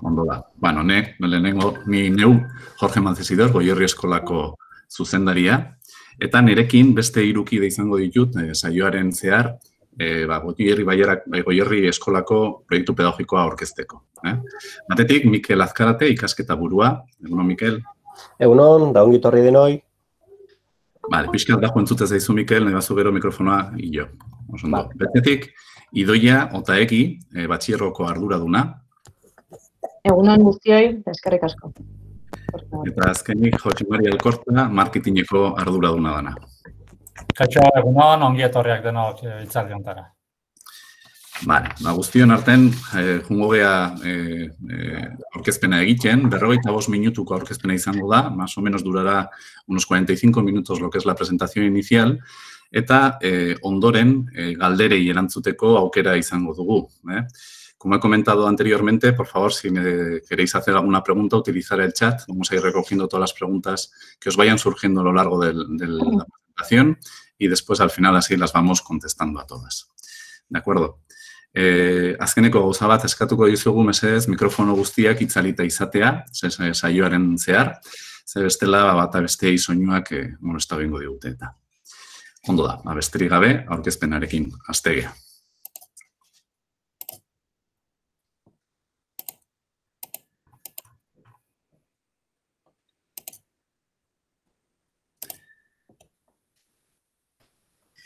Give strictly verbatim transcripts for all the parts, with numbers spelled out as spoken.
ondo da. Bueno, ne, lehenengo, ni neu Jorge Mancesidor, Goierri Eskolako zuzendaria, eta nirekin beste hirukide izango ditut, eh, saioaren zehar, eh, ba, Goierri, Baierak, Goierri Eskolako proiektu pedagogikoa aurkezteko. Eh? Batetik, Mikel Azkarate, ikasketa burua. Egunon, Mikel? Egunon, da ongi torri denoi. Bale, pixkat da entzute zaizu, Mikel, nahi bazu gero mikrofonoa hilo. Osondo. Betetik, Idoia Otaegi, e, batxierroko arduraduna. Egunon guztioi, eskerrik asko. Eta azkenik, Jose Mari Alkorta, marketingeko arduraduna dana. Kaixo, egunon, ongi etorriak denok hitzaldi hontara. Bale, ba, guztion artean, eh, jungo gea eh, eh, aurkezpena egiten, berrogeita bost minutuko aurkezpena izango da, más o menos durará unos cuarenta y cinco minutos lo que es la presentación inicial, eta eh, ondoren eh, galderei erantzuteko aukera izango dugu. Eh? Como he comentado anteriormente, por favor, si me queréis hacer alguna pregunta, utilizar el chat. Vamos a ir recogiendo todas las preguntas que os vayan surgiendo a lo largo de la presentación y después, al final, así las vamos contestando a todas. ¿De acuerdo? Eh, azkeneko gauza bat eskatuko dizugu mesedez mikrofono guztiak itzalita izatea, saioaren zehar, ze bestela bata bestei soinuak eh, molesta bingo digute eta. Ondo da, besterik gabe, aurkezpenarekin hastegea.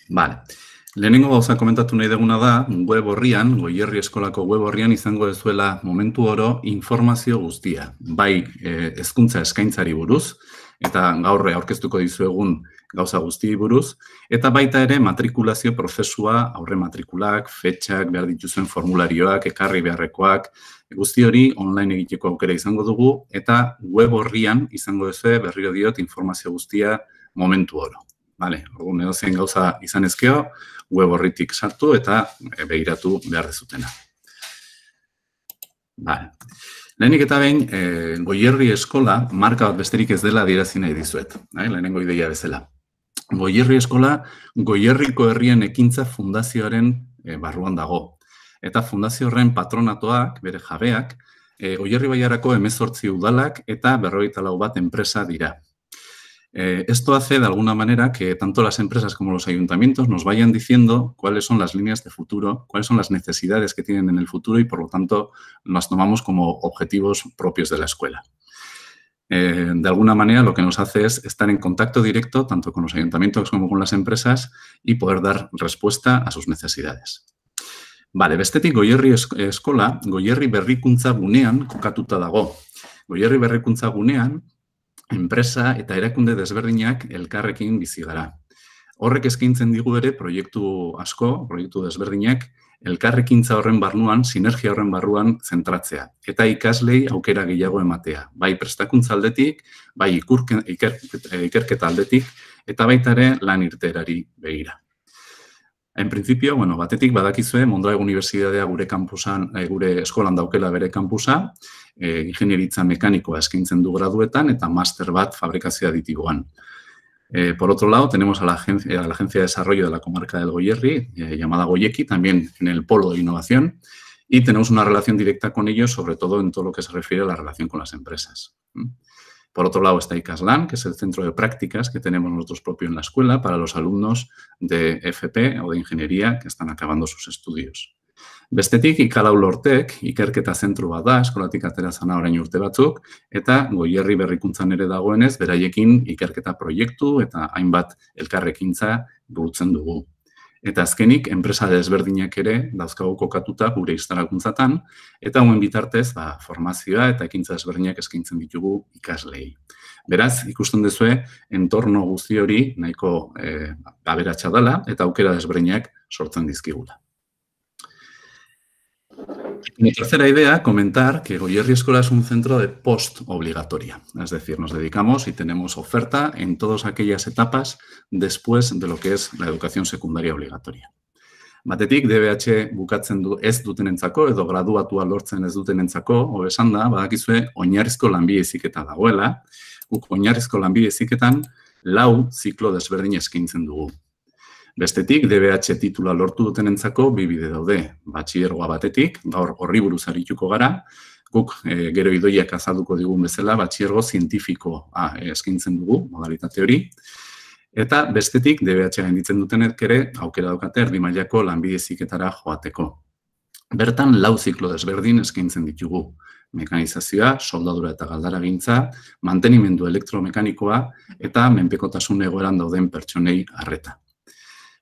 Vale. Lehenengo gauza komentatu nahi deguna da, web horrian, Goierri Eskolako web horrian izango dezuela momentu oro informazio guztia. Bai hezkuntza eskaintzari buruz, eta gaur aurkeztuko dizuegun gauza guzti buruz, eta baita ere matrikulazio prozesua, aurre matrikulak, fetxak, behar dituzuen formularioak, ekarri beharrekoak, guzti hori online egiteko aukera izango dugu, eta web horrian izango dezue berriro diot informazio guztia momentu oro. Vale, orduan edozein gauza izan ezkeo, web horritik sartu eta begiratu behar dezutena. Vale. Lehenik eta behin, eh, Goierri Eskola marka bat besterik ez dela adierazi nahi dizuet. Eh? Lehenengo ideia bezala. Goierri Eskola, Goierriko Herrien Ekintza Fundazioaren eh, barruan dago. Eta fundazio horren patronatoak, bere jabeak, eh, Goierri Baiarako hemezortzi udalak eta berrogeita lau bat enpresa dira. Eh, esto hace de alguna manera que tanto las empresas como los ayuntamientos nos vayan diciendo cuáles son las líneas de futuro, cuáles son las necesidades que tienen en el futuro y, por lo tanto, las tomamos como objetivos propios de la escuela. Eh, de alguna manera, lo que nos hace es estar en contacto directo tanto con los ayuntamientos como con las empresas y poder dar respuesta a sus necesidades. Vale, bestetik Goierri Eskola, Goierri Berrikuntza gunean kokatuta dago. Goierri Berrikuntza gunean, enpresa eta erakunde desberdinak elkarrekin bizi gara. Horrek eskaintzen digu ere proiektu asko, proiektu desberdinak, elkarrekintza horren barruan, sinergia horren barruan zentratzea. Eta ikaslei aukera gehiago ematea. Bai prestakuntza aldetik, bai ikerketa aldetik, eta baita ere lan irteerari begira. En principio, bueno, batetik badakizue, Mondragon Unibertsitatea gure kampusan, gure eskolan daukela bere kampusa, eh, ingenieritza mekanikoa eskaintzen du graduetan eta master bat fabrikazio aditiboan. Eh, por otro lado, tenemos a la, agencia, a la Agencia de Desarrollo de la Comarca del Goierri, eh, llamada Goyeki, también en el polo de innovación, y tenemos una relación directa con ellos, sobre todo en todo lo que se refiere a la relación con las empresas. Por otro lado está ICASLAN, que es el centro de prácticas que tenemos nosotros propios en la escuela para los alumnos de F P o de ingeniería que están acabando sus estudios. Bestetik, Ikalau Lortek, ikerketa zentru bat da, eskolatik atera zana orain urte batzuk, eta Goierri Berrikuntzan ere dagoenez, beraiekin ikerketa proiektu eta hainbat elkarrekintza burutzen dugu. Eta azkenik, enpresa desberdinak ere dauzkagu kokatuta gure instalakuntzatan, eta hauen bitartez, ba, formazioa eta ekintza desberdinak eskaintzen ditugu ikaslei. Beraz, ikusten duzue, entorno guzti hori nahiko eh, aberatsa dela eta aukera desberdinak sortzen dizkigula. Mi tercera idea, comentar que Goierri Escola es un centro de post-obligatoria. Es decir, nos dedicamos y tenemos oferta en todas aquellas etapas después de lo que es la educación secundaria obligatoria. Batetik, D B H bukatzen du ez dutenentzako edo graduatua lortzen ez dutenentzako, hobe esan da, badakizue, oinarrizko lanbide heziketa dagoela. Guk oinarrizko lanbide heziketan lau ziklo desberdin eskaintzen dugu. Bestetik, D B H titula lortu dutenentzako bi bide daude. Batxilergoa batetik, gaur horri buruz arituko gara, guk e, gero idoiak azalduko digun bezala, batxilergo zientifikoa eskaintzen dugu, modalitate hori. Eta bestetik, D B H gainditzen dutenek ere, aukera daukate erdi mailako lanbide heziketara joateko. Bertan, lau ziklo desberdin eskaintzen ditugu. Mekanizazioa, soldadura eta galdaragintza, mantenimendu elektromekanikoa eta menpekotasun egoeran dauden pertsonei arreta.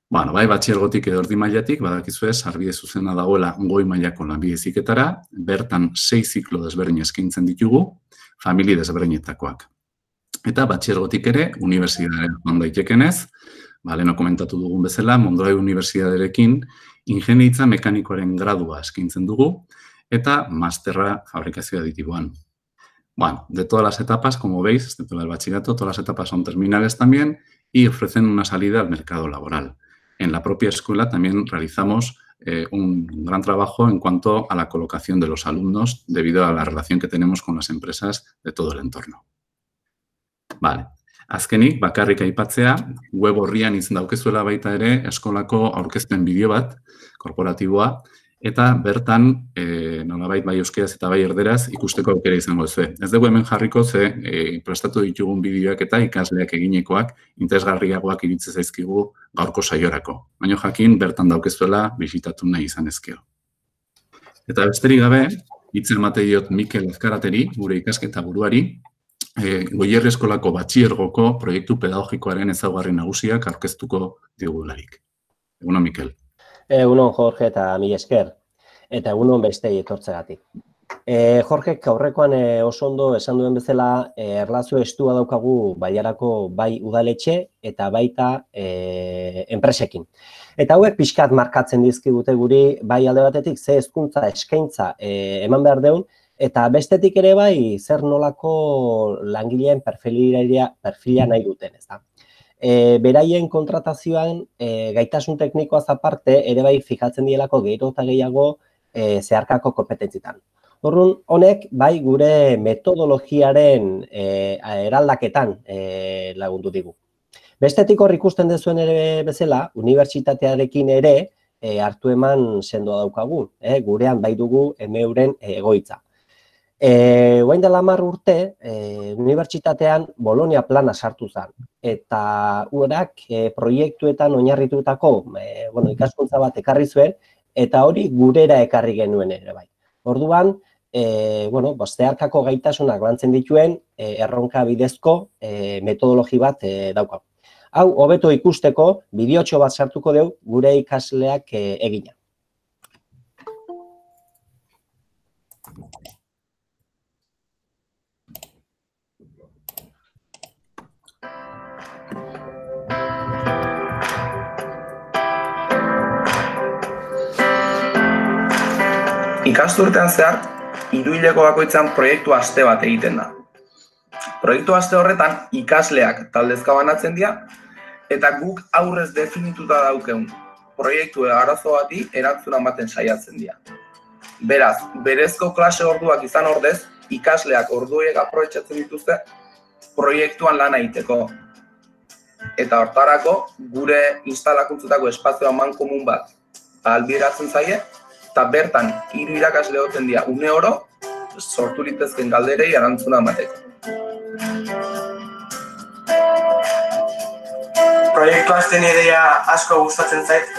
Bueno, bai, batxilergotik edo erdi mailatik, badakizue, sarbide zuzena dagoela goi mailako lanbide heziketara, bertan sei ziklo desberdin eskaintzen ditugu, famili desberdinetakoak. Eta batxilergotik ere, unibertsitatean joan daitekenez, ba, leheno komentatu dugun bezala, Mondragon Unibertsitatearekin ingeniaritza mekanikoaren gradua eskaintzen dugu, eta masterra fabrikazio aditiboan. Bueno, de todas las etapas, como veis, de todo el bachillerato, todas las etapas son terminales también y ofrecen una salida al mercado laboral. En la propia escuela también realizamos eh, un gran trabajo en cuanto a la colocación de los alumnos debido a la relación que tenemos con las empresas de todo el entorno. Vale. Azkenik, bakarrik aipatzea, web orrian izan daukezuela baita ere eskolako aurkezpen bideo bat, korporatiboa, eta bertan, e, nolabait bai euskeraz eta bai erderaz ikusteko aukera izango zuen. Ez dugu hemen jarriko ze e, prestatu ditugun bideoak eta ikasleak eginekoak interesgarriagoak iritze zaizkigu gaurko saiorako. Baina jakin bertan daukezuela bisitatu nahi izan ezkeo. Eta besterik gabe, hitz emate diot Mikel Azkarateri, gure ikasketa buruari, e, Goierri eskolako batxilergoko proiektu pedagogikoaren ezaugarri nagusiak aurkeztuko digularik. Egunon, Mikel. Egunon, Jorge, eta mila esker. Eta egunon bestei etortzegatik. E, Jorge, aurrekoan e, oso ondo esan duen bezala, e, erlazio estua daukagu Bailarako bai udaletxe eta baita e, enpresekin. Eta hauek pixkat markatzen dizkigute guri, bai alde batetik ze hezkuntza eskaintza e, eman behar deun, eta bestetik ere bai zer nolako langileen perfila, perfila nahi duten, ez da. E, beraien kontratazioan e, gaitasun teknikoaz aparte ere bai fijatzen dielako gero eta gehiago e, zeharkako kompetentzitan. Orduan, honek bai gure metodologiaren e, eraldaketan e, lagundu digu. Bestetik hor ikusten dezuen ere bezala, unibertsitatearekin ere e, hartu eman sendoa daukagu, e, gurean bai dugu emeuren egoitza. E, Oain dela hamar urte, e, unibertsitatean Bolonia plana sartu zen. Eta urak e, proiektuetan oinarritutako e, bueno, ikaskuntza bat ekarri zuen, eta hori gurera ekarri genuen ere bai. Orduan, e, bueno, zeharkako gaitasunak lantzen dituen e, erronka bidezko e, metodologi bat e, daukagu. Hau, hobeto ikusteko, bideotxo bat sartuko dugu gure ikasleak e, egina. Ikasturtean zehar, hiruhileko bakoitzan proiektu aste bat egiten da. Proiektu aste horretan ikasleak taldezka banatzen dira eta guk aurrez definituta daukeun proiektu arazo bati erantzuna ematen saiatzen dira. Beraz, berezko klase orduak izan ordez, ikasleak orduek aprobetxatzen dituzte proiektuan lan egiteko. Eta hortarako gure instalakuntzutako espazio amankomun bat ahalbideratzen zaie, eta bertan hiru irakasle egoten dira une oro sortu litezken galderei erantzuna emateko. Proiektu hasten ideia asko gustatzen zait.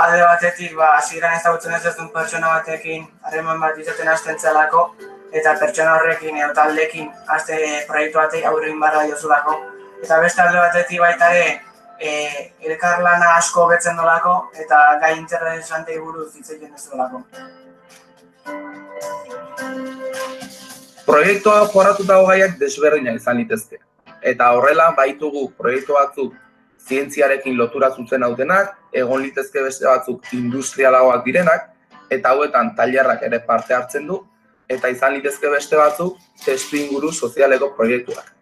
Alde batetik, ba, hasieran ezagutzen ez duen pertsona batekin harreman bat izaten hasten zelako, eta pertsona horrekin edo taldekin haste proiektu batek aurrein barra diozulako. Eta beste alde batetik baita ere, E, elkarlana asko betzen dolako eta gai interesantei buruz hitz egiten duzulako. Proiektua jorratutako gaiak desberdinak izan litezke. Eta horrela baitugu proiektu batzuk zientziarekin lotura zuzen hautenak, egon litezke beste batzuk industrialagoak direnak, eta hauetan tailerrak ere parte hartzen du, eta izan litezke beste batzuk testu inguru sozialeko proiektuak.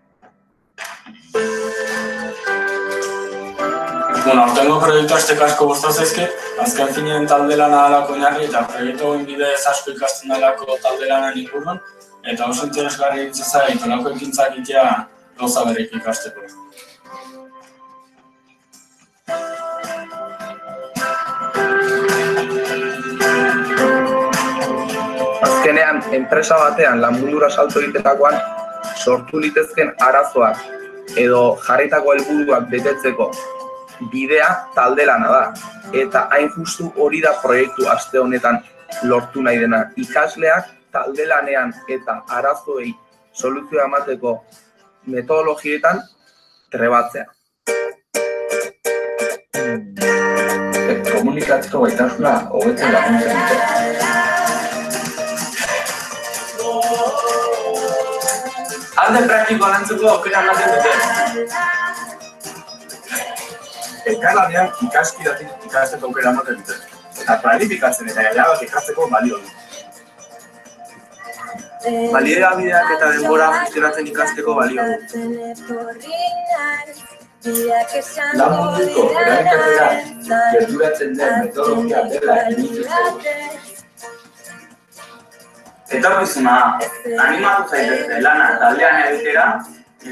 Bueno, aurtengo proiektu azteko asko gustatzen zaizkit, azken finean talde lana dalako oinarri eta proiektu hauen bidez asko ikasten dalako talde lanan inguruan, eta oso interesgarri egiten zait holako ekintzak egitea gauza berrik ikasteko. azkenean enpresa batean lan mundura salto egiterakoan sortu litezken arazoak edo jarritako helburuak betetzeko bidea talde lana da. Eta hain justu hori da proiektu aste honetan lortu nahi dena. Ikasleak talde lanean eta arazoei soluzioa emateko metodologietan trebatzea. Komunikatzeko gaitasuna hobetzen laguntzen dute. Alde praktikoa lantzeko aukera ematen dute. Elkarlanean ikaskidatik ikasteko aukera ematen dute. Eta planifikatzen eta erabak ikasteko balio du. Baliabideak eta denbora gestionatzen ikasteko balio du. Lan munduko erabikatera gerturatzen den metodologia dela initzeko. Etorkizuna, animatu zaitezte lana taldean egitera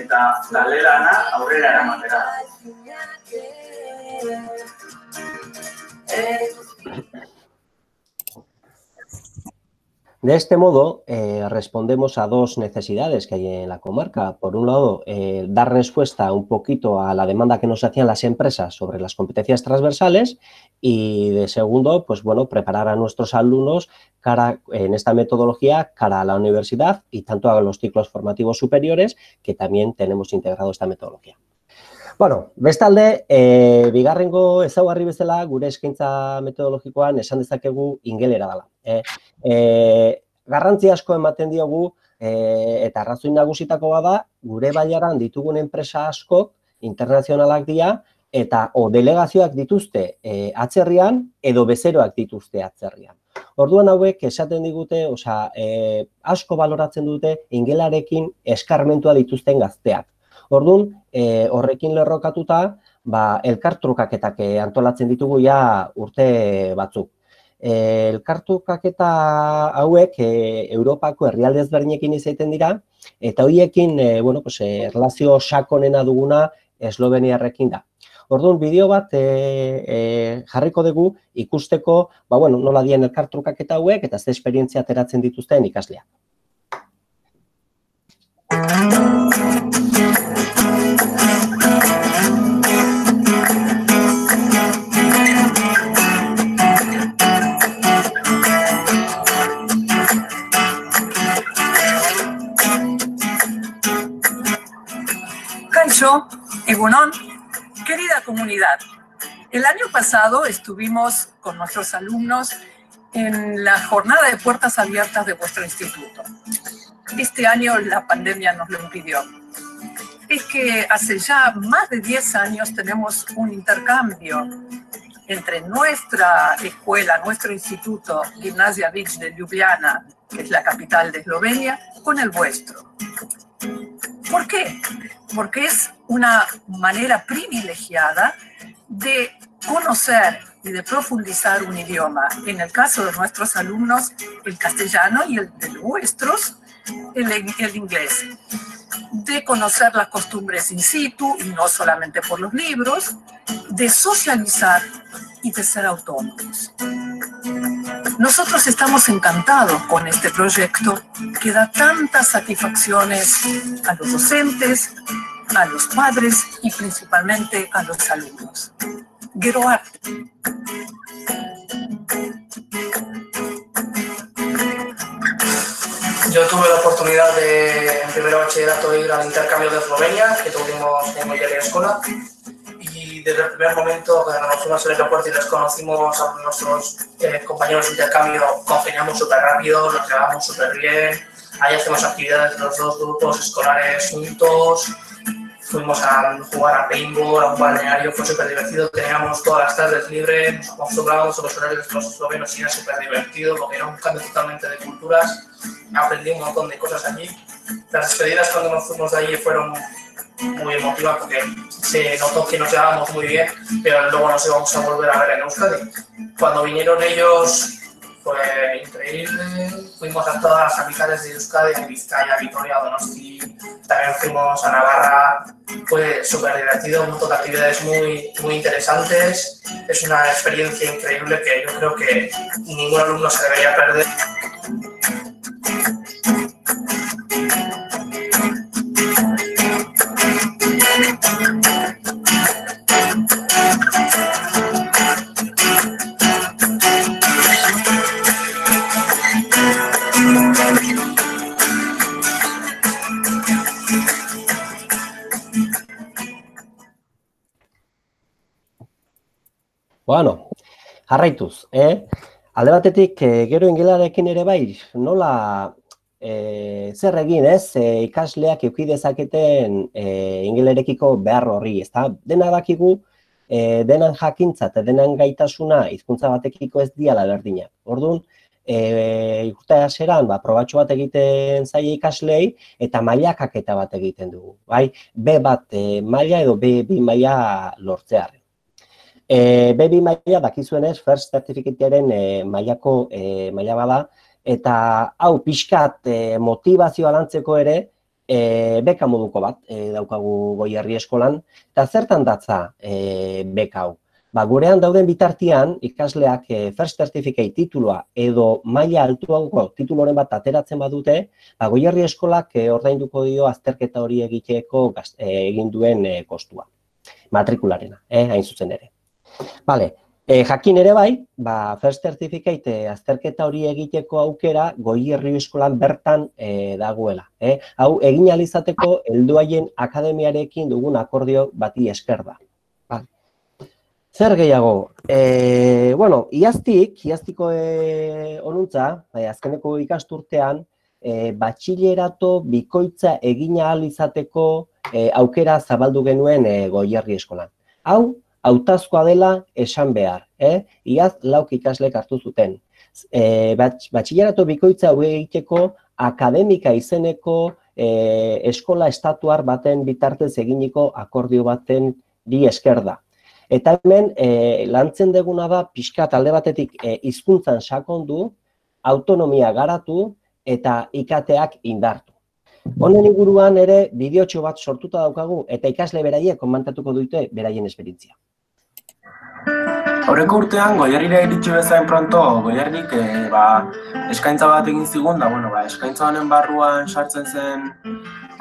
eta talde lana aurrera eramatera. De este modo, eh, respondemos a dos necesidades que hay en la comarca. Por un lado, eh, dar respuesta un poquito a la demanda que nos hacían las empresas sobre las competencias transversales y, de segundo, pues bueno, preparar a nuestros alumnos cara, en esta metodología cara a la universidad y tanto a los ciclos formativos superiores, que también tenemos integrado esta metodología. Bueno, bestalde, e, bigarrengo ezaugarri bezala gure eskaintza metodologikoan esan dezakegu ingelera dela. E, e, garrantzi asko ematen diogu e, eta arrazoi nagusitako bada gure bailaran ditugun enpresa askok internazionalak dira eta o delegazioak dituzte e, atzerrian edo bezeroak dituzte atzerrian. Orduan hauek esaten digute, osea, e, asko baloratzen dute ingelarekin eskarmentua dituzten gazteak. Orduan, e, horrekin lerrokatuta, ba, elkartrukaketak antolatzen ditugu ja urte batzuk. E, elkartrukaketa hauek e, Europako herrialde ezberdinekin izaten dira, eta horiekin, e, bueno, pues, e, erlazio sakonena duguna Esloveniarrekin da. Orduan, bideo bat e, e, jarriko dugu ikusteko, ba, bueno, nola dien elkartrukaketa hauek eta ze esperientzia ateratzen dituzten ikasleak. Kaixo, Egunon, querida comunidad. El año pasado estuvimos con nuestros alumnos en la jornada de puertas abiertas de vuestro instituto. Este año la pandemia nos lo impidió. Es que hace ya más de diez años tenemos un intercambio entre nuestra escuela, nuestro instituto, Gimnasia Vic de Ljubljana, que es la capital de Eslovenia, con el vuestro. ¿Por qué? Porque es una manera privilegiada de conocer y de profundizar un idioma. En el caso de nuestros alumnos, el castellano, y el de los vuestros, el, el inglés. De conocer las costumbres in situ, y no solamente por los libros, de socializar y de ser autónomos. Nosotros estamos encantados con este proyecto que da tantas satisfacciones a los docentes, a los padres y principalmente a los alumnos. Geroart. Yo tuve la oportunidad de, en primero bachillerato, ir al intercambio de Eslovenia, que tuvimos en Goierri Eskola, y desde el primer momento, cuando nos fuimos al aeropuerto y les conocimos a nuestros eh, compañeros de intercambio, congeniamos súper rápido, nos llevamos súper bien, ahí hacemos actividades de los dos grupos escolares juntos, fuimos a jugar a paintball, a un balneario, fue súper divertido, teníamos todas las tardes libres, nos acostumbrábamos a los horarios de los eslovenos y era súper divertido porque era un cambio totalmente de culturas, aprendí un montón de cosas allí. Las despedidas cuando nos fuimos de allí fueron muy emotivas porque se notó que nos llevábamos muy bien, pero luego nos íbamos a volver a ver en Euskadi. Cuando vinieron ellos fue increíble, fuimos a todas las capitales de Euskadi, a Vizcaya, Vitoria, Donosti, también fuimos a Navarra, fue súper divertido, un montón de actividades muy, muy interesantes, es una experiencia increíble que yo creo que ningún alumno se debería perder. Bueno, jarraituz, eh? Alde batetik, gero ingelarekin ere bai, nola e, zer egin, ez? E, ikasleak eduki dezaketen e, ingelerekiko behar horri, ezta? Dena dakigu, e, denan jakintza eta denan gaitasuna hizkuntza batekiko ez diala berdinak. Orduan, e, urte hasieran, ba, probatxo bat egiten zaie ikaslei eta mailakaketa bat egiten dugu, bai? B bat e, maila edo B bi maila lortzearen. E, B bi maila dakizuenez, First Certificatearen e, mailako e, maila bada, eta hau pixkat e, motivazioa lantzeko ere e, beka moduko bat e, daukagu Goierri eskolan, eta zertan datza e, beka hau? Ba, gurean dauden bitartean ikasleak e, First Certificate titulua edo maila altuago tituloren bat ateratzen badute, ba, Goierri eskolak e, ordainduko dio azterketa hori egiteko gaz, e, egin duen e, kostua, matrikularena, eh, hain zuzen ere. Vale, e, jakin ere bai, ba, First Certificate e, azterketa hori egiteko aukera Goierri eskolan bertan e, dagoela. Eh? Hau, egin ahal izateko helduaien akademiarekin dugun akordio bati esker da. Vale. Zer gehiago? E, bueno, iaztik, iaztiko e, onuntza, bai, azkeneko ikasturtean, e, batxilerato bikoitza egin ahal izateko e, aukera zabaldu genuen e, Goierri eskolan. Hau, hautazkoa dela esan behar, eh? Iaz lauk ikaslek hartu zuten. E, batxilerato bikoitza hau egiteko akademika izeneko e, eskola estatuar baten bitartez eginiko akordio baten bi esker da. Eta hemen e, lantzen deguna da pixka talde batetik e, hizkuntzan sakondu, autonomia garatu eta ikateak indartu. Honen inguruan ere bideotxo bat sortuta daukagu eta ikasle beraiek komentatuko dute beraien esperientzia. Aurreko urtean, Goierrira iritsi bezain pronto, Goierrik e, ba, eskaintza bat egin zigun, da, bueno, ba, eskaintza honen barruan sartzen zen,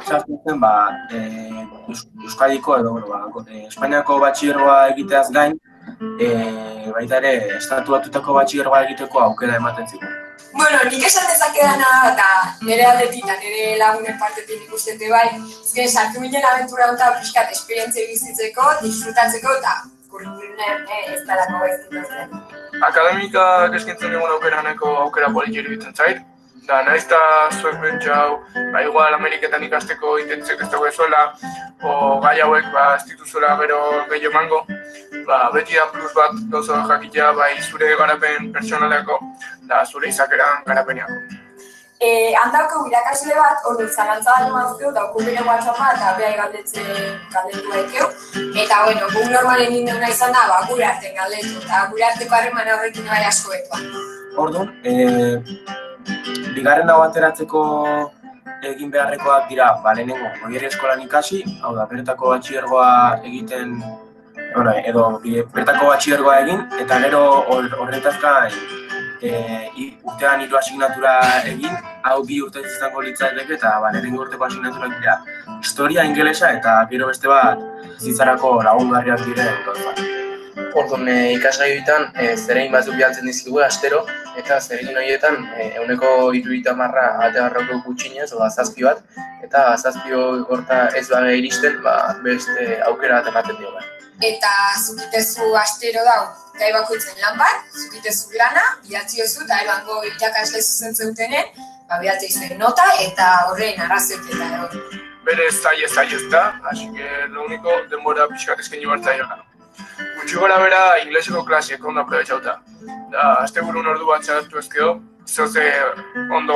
sartzen zen, ba, e, Euskadiko edo, bueno, ba, e, Espainiako batxilergoa egiteaz gain, e, baita ere, estatu batutako batxilergoa egiteko aukera ematen zigun. Bueno, nik esan dezakedana eta nire aldetik eta nire lagunen partetik ikustete bai, ezken sartu minen abentura honetan pixkat esperientzia bizitzeko, disfrutatzeko eta kurrikulen ez dalako gaizkitatzen. Akademikak eskintzen dugun aukeraneko aukera politi iruditzen zait. Da, nahiz eta zuek bentsau, ba, igual Ameriketan ikasteko intentzek ez dago ezuela, o gai hauek ba, ez dituzuela gero gehiago emango, ba, beti da plus bat gauza jakitea bai zure garapen pertsonaleko, da zure izakeran garapeneako. E, handauko irakasle bat, hori zalantza bat emazkeu, daukun bere WhatsAppa eta behai galdetze galdetu daikeu. Eta, bueno, guk normalen indena izan da, ba, gure arten galdetu, eta gure arteko harreman horrekin bai asko betua. Orduan, e, bigarren dago ateratzeko egin beharrekoak dira, ba, lehenengo, Goierri eskolan ikasi, hau da, bertako batxilergoa egiten, bueno, edo bertako batxilergoa egin, eta gero horretaz gain, e, urtean hiru asignatura egin, hau bi urte izango litzateke eta ba, lehenengo urteko asignaturak dira historia, ingelesa eta gero beste bat zitzarako lagungarriak diren gauzak. Orduan, e, ikasgai horietan e, zeregin batzuk bialtzen dizkigu astero, eta zeregin horietan e, ehuneko hirurogeita hamara ate barroko gutxinez, oda zazpi bat, eta zazpi horta ez baga iristen, ba, beste aukera bat ematen dio. Eta zukitezu astero dau, gai bakoitzen lan bat, zukitezu lana, bidatzi oso eta ebango irakasle zuzentzen dutenen, ba, bidatzi izan nota eta horren arrazoik eta egon. Bere zai ez zai ez da, así que lo único denbora pixkat eskaini bartza dira. Gutxi gora bera ingleseko klasiek ondo aprobetxauta. Da, azte burun ordu bat txartu ezkeo, zoze ondo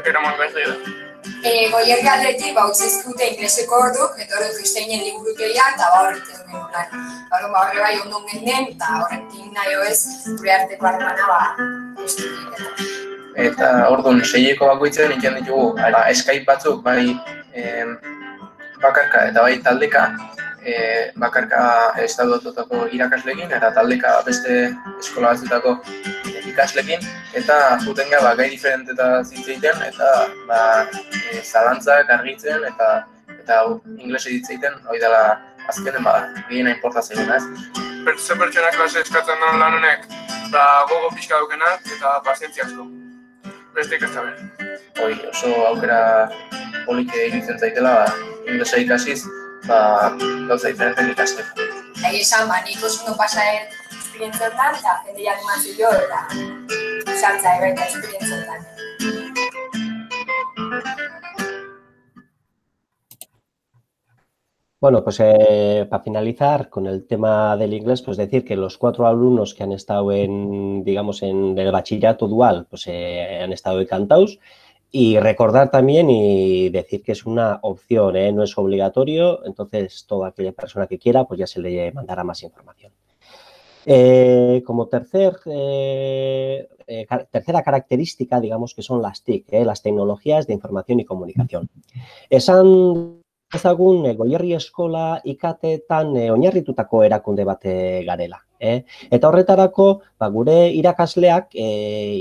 eraman gaizle da. E, Goierri aldetik, ba, utzizkute ingleseko orduk, eta horret kristeinen liburukeria, eta ba horretik duen lan. Baron, ba horre bai ondo genden, eta horretik nahi hoez, gure arteko harremana, ba, estudik. Eta orduan, seieko bakoitzen ikan ditugu, ba, Skype batzuk, bai e, bakarka eta bai taldeka, e, bakarka estatuatutako irakaslekin, eta taldeka beste eskola batzutako ikaslekin, eta zuten gara ba, gai diferentetaz hitz egiten, eta ba, e, zalantzak argitzen, eta eta inglese hitz egiten, hori dela azkenen ba, gehiena inporta zegoen, ez? Ze pertsona klase eskatzen duen lan honek, ba, gogo pixka dukenak eta pazientzia asko. Beste ikasta behar. Hoi, oso aukera polite iruditzen zaitela, ba, inglesa ikasiz, ba, gauza diferenten ikasteko. Eta esan, ba, nik oso no pasaet esperientzioetan, eta jende animazio eta sartza ebaita esperientzioetan. Bueno, pues eh, para finalizar con el tema del inglés, pues decir que los cuatro alumnos que han estado en, digamos, en el bachillerato dual, pues eh, han estado encantados. Y recordar también y decir que es una opción, ¿eh? No es obligatorio, entonces toda aquella persona que quiera, pues ya se le mandará más información. Eh, como tercer, eh, eh, tercera característica, digamos que son las T I C, eh, las tecnologías de información y comunicación. Esan ezagun Goierri Eskola ikatetan e, oinarritutako erakunde bat garela. Eh? Eta horretarako, ba, gure irakasleak e,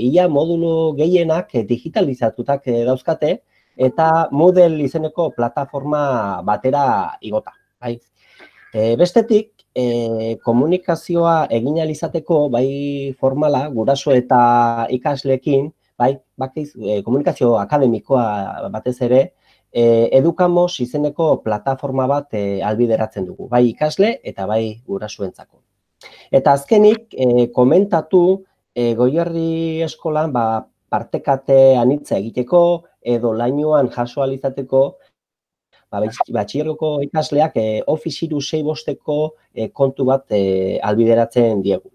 ia modulu gehienak e, digitalizatutak e, dauzkate eta Moodle izeneko plataforma batera igota. Bai? E, bestetik, e, komunikazioa egin ahal izateko bai formala, guraso eta ikasleekin, bai, bakiz, e, komunikazio akademikoa batez ere, E, Edukamos izeneko plataforma bat e, albideratzen dugu, bai ikasle eta bai gurasoentzako. Eta azkenik, e, komentatu e, Goierri Eskolan ba, partekate anitza egiteko edo lainoan jaso ahal izateko ba, batxilergoko ikasleak e, Office hiru sei bosteko e, kontu bat e, albideratzen diegu.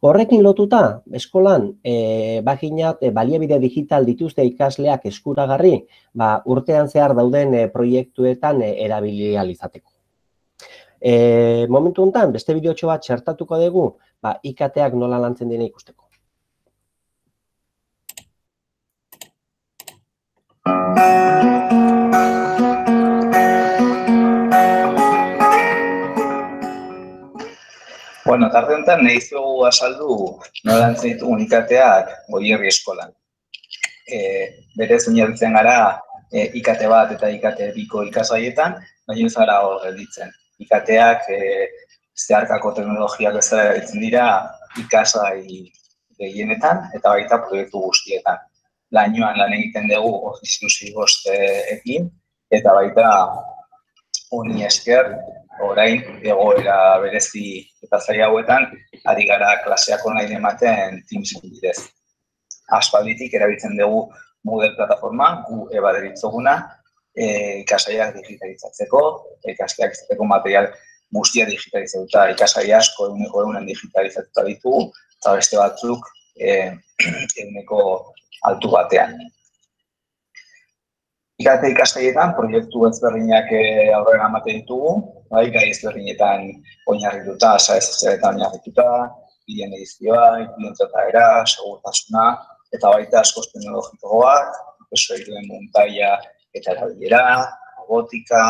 Horrekin lotuta, eskolan, e, baginat, e, baliabide digital dituzte ikasleak eskuragarri, ba, urtean zehar dauden e, proiektuetan e, erabili ahal izateko. E, momentu honetan, beste bideotxo bat txertatuko dugu, ba, I K T-ak nola lantzen dira ikusteko. Bueno, tarde honetan nahi zugu azaldu nola lantzen ditugun I K T-ak Goierri Eskolan. E, berez oinarritzen gara e, I K T bat eta I K T biko ikasgaietan, baina ez gara hor gelditzen. I K T-ak e, zeharkako teknologiak bezala erabiltzen dira ikasgai gehienetan eta baita proiektu guztietan. Lainoan lan egiten dugu Office hiru sei bostekin eta baita honi esker orain egoera berezi eta zaila hauetan ari gara klaseak online ematen Teamsen bidez. Aspalditik erabiltzen dugu Moodle plataforma, gu eba deritzoguna, e, ikasgaiak digitalizatzeko, ikasleak izateko material guztia digitalizatuta, ikasgai asko ehuneko ehunen digitalizatuta ditugu, eta beste batzuk ehuneko altu batean. I K T ikasgaietan proiektu ezberdinak aurrera ematen ditugu, bai, gai ezberdinetan oinarrituta, sare sozialetan oinarrituta, bideen edizioa, inplementatera, segurtasuna, eta baita askoz teknologikoak, prozeduren muntaia eta erabilera, robotika,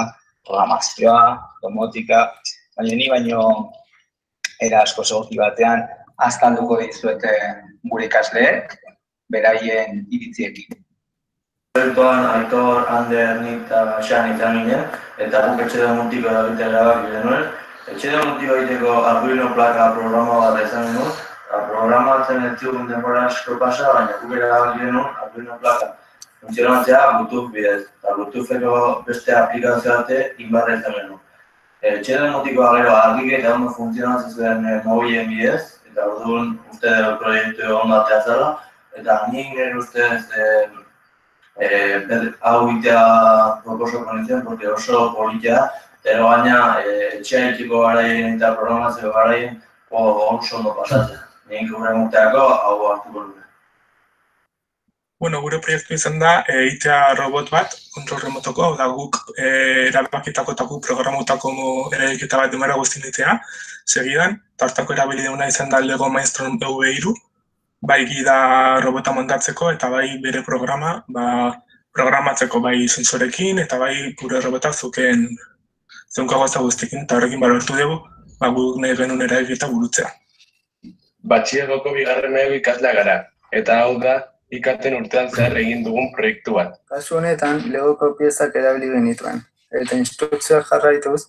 programazioa, domotika, baina ni baino era asko egoki batean azkalduko dizuete gure ikasleek, beraien iritziekin. Proiektuan Aitor, Ander, nik eta Xan izan ginen, eta guk etxede multiko erabiltzea erabaki genuen. Etxede multiko egiteko Arduino plaka programa bat izan genuen, programatzen ez zigun denbora asko pasa, baina guk erabaki genuen Arduino plaka funtzionatzea Bluetooth bidez, eta Bluetootheko beste aplikazio bate inbarra izan genuen. Etxede multikoa gero argik eta ondo funtzionatzen zuen mobilen bidez, eta orduan uste proiektu egon batea zela, eta nik nire ustez Eh, hau itea proposoko nintzen, porque oso politia, eta baina etxea itxiko garaien eta programazio garaien oso ondo pasatzen. Nik gure urteako hau hartuko dure. Bueno, gure proiektu izan da, egitea robot bat, kontrol remotoko, hau da guk erabakitako eta guk programutako eraiketa bat demara guztin ditea, segidan, eta hartako erabilideuna izan da Lego Mindstorm E V hiru, bai gida robota montatzeko eta bai bere programa ba, programatzeko bai sentsorekin eta bai gure robota zuken zeunka gauza guztiekin eta horrekin balortu dugu ba, guk nahi genuen eraiketa burutzea. Batxilergoko bigarren mailako ikaslea gara, eta hau da ikaten urtean zehar egin dugun proiektu bat. Kasu honetan, Legoko piezak erabili genituen, eta instrukzioak jarraituz,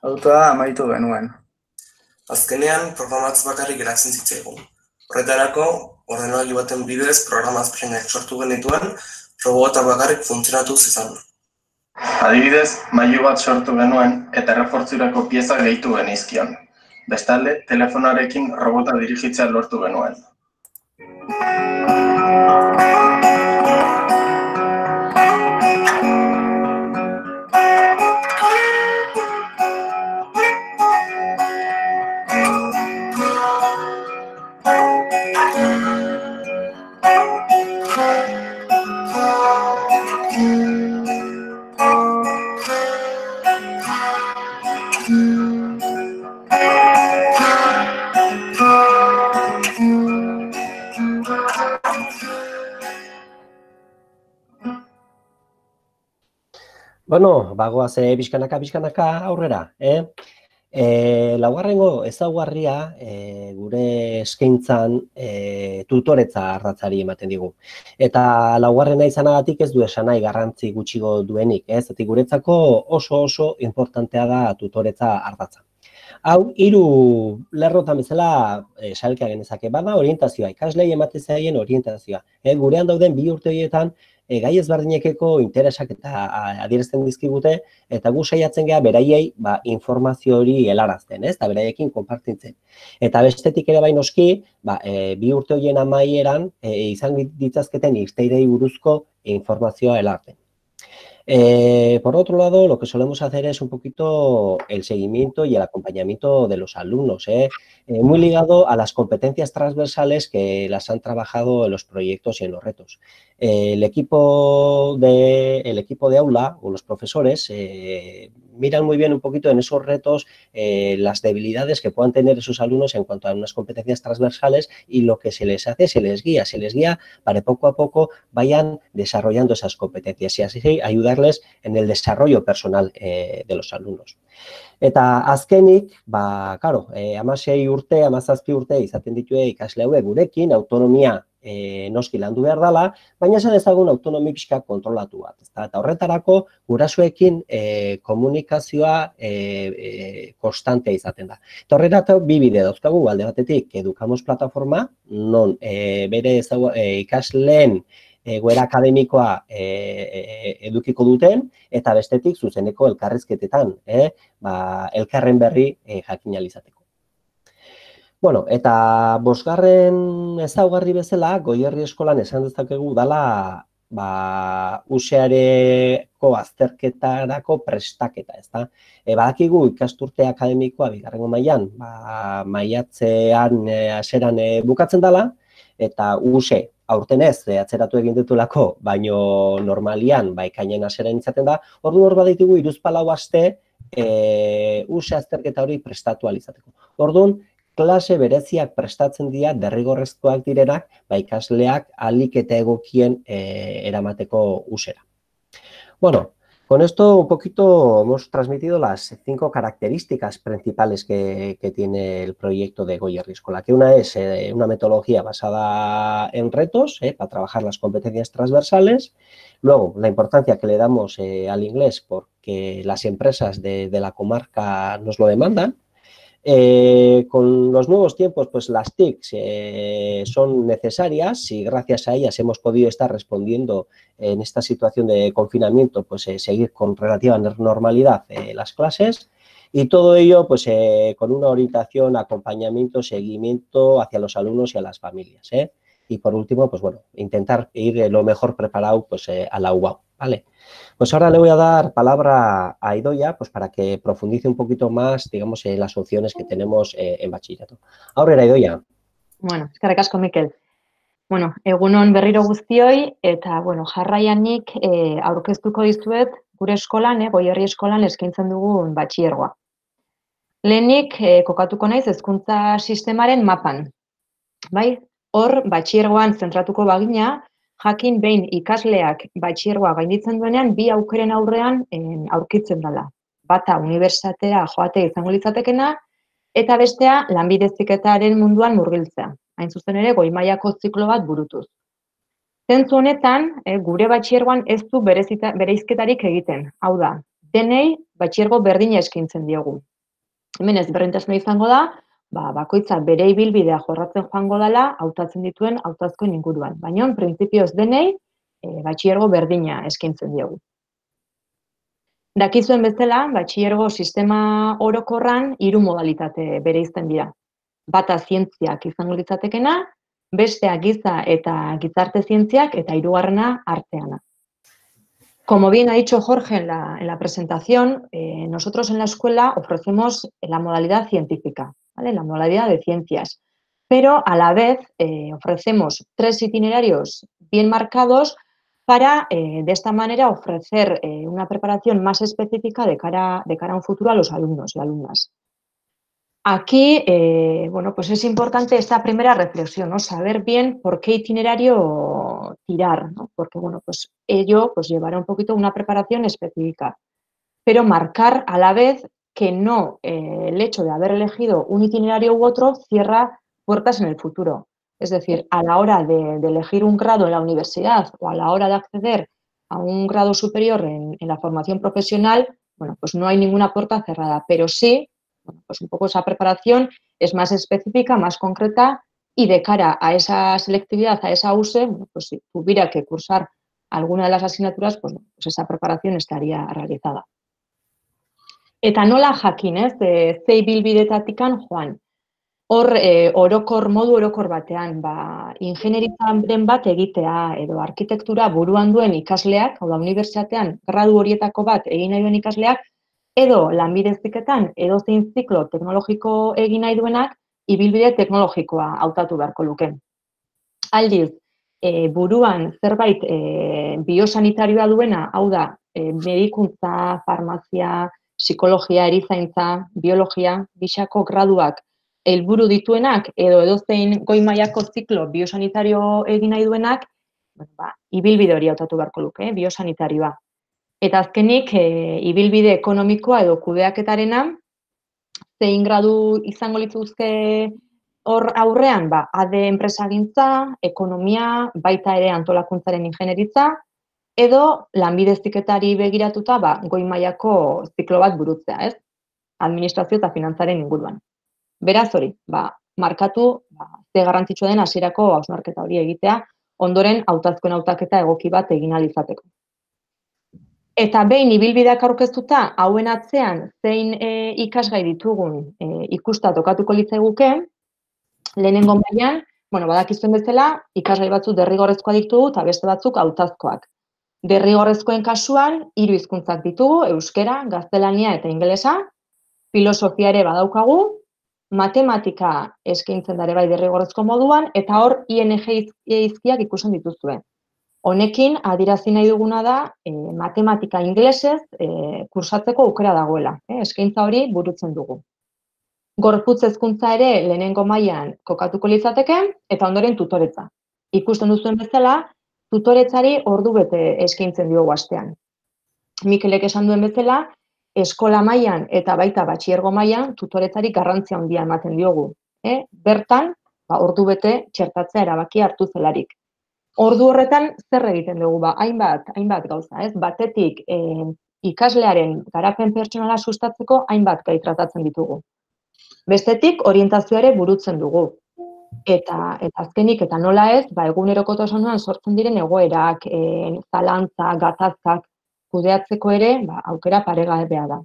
autoa amaitu genuen. Azkenean, programatz bakarrik geratzen zitzaigun. Horretarako, ordenagailu baten bidez programazpenak sortu genituen, robota bakarrik funtzionatu zizan. Adibidez, mailu bat sortu genuen eta errefortzurako pieza gehitu genizkion. Bestalde, telefonoarekin robota dirigitzea lortu genuen. Bueno, bagoaz pixkanaka, pixkanaka aurrera, eh? E, laugarrengo ezaugarria e, gure eskaintzan e, tutoretza ardatzari ematen digu. Eta laugarrena izanagatik ez du esan nahi garrantzi gutxigo duenik, ez? Zatik guretzako oso oso importantea da tutoretza ardatza. Hau, hiru lerrotan bezala e, sailka genezake, bada orientazioa, ikaslei ematen zaien orientazioa. E, gurean dauden bi urte horietan, E, gai ezberdinekeko interesak eta adierazten dizkigute, eta gu saiatzen geha beraiei ba, informazio hori helarazten, ez? Eta beraiekin konpartitzen. Eta bestetik ere bain noski, ba, e, bi urte horien amaieran e, izan ditzazketen irteirei buruzko informazioa helarten. Eh, por otro lado, lo que solemos hacer es un poquito el seguimiento y el acompañamiento de los alumnos, ¿eh? Eh, muy ligado a las competencias transversales que las han trabajado en los proyectos y en los retos. Eh, el, equipo de, el equipo de aula o los profesores eh, miran muy bien un poquito en esos retos eh, las debilidades que puedan tener esos alumnos en cuanto a unas competencias transversales y lo que se les hace, se les guía, se les guía para que poco a poco vayan desarrollando esas competencias y así ayudarles en el desarrollo personal eh, de los alumnos. Eta azkenik, ba, claro, eh, hamasei urte, hamazazpi urte izaten ditue ikasle hauek gurekin, autonomia e, noski landu behar dela, baina esan ezagun autonomi pixka kontrolatu bat. Eta horretarako gurasoekin e, komunikazioa e, e, konstantea izaten da. Eta horretarako bi bide dauzkagu, alde batetik Educamos plataforma, non e, bere ezagu, e, ikasleen egoera akademikoa e, e, edukiko duten, eta bestetik zuzeneko elkarrizketetan, eh? ba, elkarren berri e, jakin alizateko. Bueno, eta bosgarren ezaugarri bezala, Goierri eskolan esan dezakegu dala ba, useareko azterketarako prestaketa, ezta? E, badakigu ikasturte akademikoa bigarrengo mailan, ba, maiatzean e, aseran e, bukatzen dela, eta use aurten ez, atzeratu egin ditulako, baino normalian, ba, ekainen aseran izaten da, ordu hor baditugu hiruzpalau aste e, use azterketa hori prestatu alizateko. Orduan, klase bereziak prestatzen dira derrigorrezkoak direnak, ba, ikasleak ahalik eta egokien e, eramateko usera. Bueno, con esto un poquito hemos transmitido las cinco características principales que, que tiene el proyecto de Goierri Eskola, que una es eh, una metodología basada en retos eh, para trabajar las competencias transversales, luego la importancia que le damos eh, al inglés porque las empresas de, de la comarca nos lo demandan. Eh, con los nuevos tiempos, pues las T I Cs eh, son necesarias y gracias a ellas hemos podido estar respondiendo en esta situación de confinamiento, pues eh, seguir con relativa normalidad eh, las clases y todo ello pues eh, con una orientación, acompañamiento, seguimiento hacia los alumnos y a las familias. ¿eh? Y por último, pues bueno, intentar ir lo mejor preparado pues eh, a la U A U, ¿vale? Pues ahora le voy a dar palabra a Idoia pues para que profundice un poquito más, digamos, en las opciones que tenemos eh, en bachillerato. Ahora era Idoia. Bueno, eskerrik asko, Mikel. Bueno, egunon berriro guztioi, eta, bueno, jarraianik eh, aurkeztuko dizuet gure eskolan, eh, Goierri eskolan eskaintzen dugun batxilergoa. Lehenik, eh, kokatuko naiz hezkuntza sistemaren mapan. Bai, hor batxilergoan zentratuko bagina, jakin behin ikasleak batxilergoa gainditzen duenean, bi aukeren aurrean en, aurkitzen dela. Bata unibertsitatera joate izango litzatekena, eta bestea lanbide heziketaren munduan murgiltzea. Hain zuzen ere, goi mailako ziklo bat burutuz. Zentzu honetan, eh, gure batxilergoan ez du bereizketarik egiten. Hau da, denei batxilergo berdina eskaintzen diogu. Hemen ezberdintasuna izango da, ba, bakoitza bere ibilbidea jorratzen joango dela, hautatzen dituen hautazkoen inguruan. Baina, printzipioz denei, e, batxilergo berdina eskaintzen diogu. Dakizuen bezala, batxilergo sistema orokorran hiru modalitate bereizten dira. Bata zientziak izango litzatekena, bestea giza eta gizarte zientziak eta hirugarrena arteana. Como bien ha dicho Jorge en la, en la presentación, eh, nosotros en la escuela ofrecemos la modalidad científica, ¿vale? La modalidad de ciencias, pero a la vez eh, ofrecemos tres itinerarios bien marcados para, eh, de esta manera, ofrecer eh, una preparación más específica de cara, de cara a un futuro a los alumnos y alumnas. Aquí, eh, bueno, pues es importante esta primera reflexión, ¿no? Saber bien por qué itinerario tirar, ¿no? Porque, bueno, pues ello pues llevará un poquito una preparación específica, pero marcar a la vez que no eh, el hecho de haber elegido un itinerario u otro cierra puertas en el futuro. Es decir, a la hora de, de elegir un grado en la universidad o a la hora de acceder a un grado superior en, en la formación profesional, bueno, pues no hay ninguna puerta cerrada, pero sí, bueno, pues un poco esa preparación es más específica, más concreta y de cara a esa selectividad, a esa U S E, bueno, pues si tuviera que cursar alguna de las asignaturas, pues, pues esa preparación estaría realizada. Eta nola jakin, ez, ze ibilbidetatikan joan. Hor, e, orokor, modu orokor batean, ba, ingenieritzaren bat egitea edo arkitektura buruan duen ikasleak, hau da, unibertsitatean gradu horietako bat egin nahi duen ikasleak, edo lanbide heziketan edo zein ziklo teknologiko egin nahi duenak, ibilbide teknologikoa hautatu beharko luke. Aldiz, e, buruan zerbait e, biosanitarioa duena, hau da, e, medikuntza, farmazia, psikologia, erizaintza, biologia, bisako graduak helburu dituenak edo edozein goi mailako ziklo biosanitario egin nahi duenak, ba, ibilbide hori hautatu beharko luke, eh, biosanitarioa. Eta azkenik, e, ibilbide ekonomikoa edo kudeaketarena, zein gradu izango lituzke hor aurrean, ba, A D enpresagintza, ekonomia, baita ere antolakuntzaren ingenieritza, edo lanbide heziketari begiratuta, ba, goi mailako ziklo bat burutzea, ez? Administrazio eta finantzaren inguruan. Beraz hori, ba, markatu, ba, ze garrantzitsua den hasierako hausnarketa hori egitea, ondoren hautazkoen hautaketa egoki bat egin ahal izateko. Eta behin ibilbideak aurkeztuta, hauen atzean zein e, ikasgai ditugun e, ikusta tokatuko litzaiguke, lehenengo mailan, bueno, badakizuen bezala, ikasgai batzuk derrigorrezkoak ditugu eta beste batzuk hautazkoak. Derrigorrezkoen kasuan, hiru hizkuntzak ditugu, euskera, gaztelania eta ingelesa, filosofia ere badaukagu, matematika eskaintzen da ere bai derrigorrezko moduan, eta hor I N G hizkiak ikusten dituzue. Honekin, adirazi nahi duguna da, e, matematika ingelesez e, kursatzeko aukera dagoela. E, eskaintza hori burutzen dugu. Gorputz hezkuntza ere lehenengo mailan kokatuko litzateke, eta ondoren tutoretza. Ikusten duzuen bezala, tutoretzari ordu bete eskaintzen diogu astean. Mikelek esan duen bezala, eskola mailan eta baita batxilergo mailan tutoretzari garrantzia handia ematen diogu. E, bertan, ba, ordu bete txertatzea erabaki hartu zelarik. Ordu horretan zer egiten dugu, ba, hainbat, hainbat gauza, ez? Batetik e, ikaslearen garapen pertsonala sustatzeko hainbat gai tratatzen ditugu. Bestetik orientazioa ere burutzen dugu. Eta, eta azkenik eta nola ez, ba, egunerokotasunean sortzen diren egoerak, e, zalantza, gatazkak kudeatzeko ere, ba, aukera paregabea da.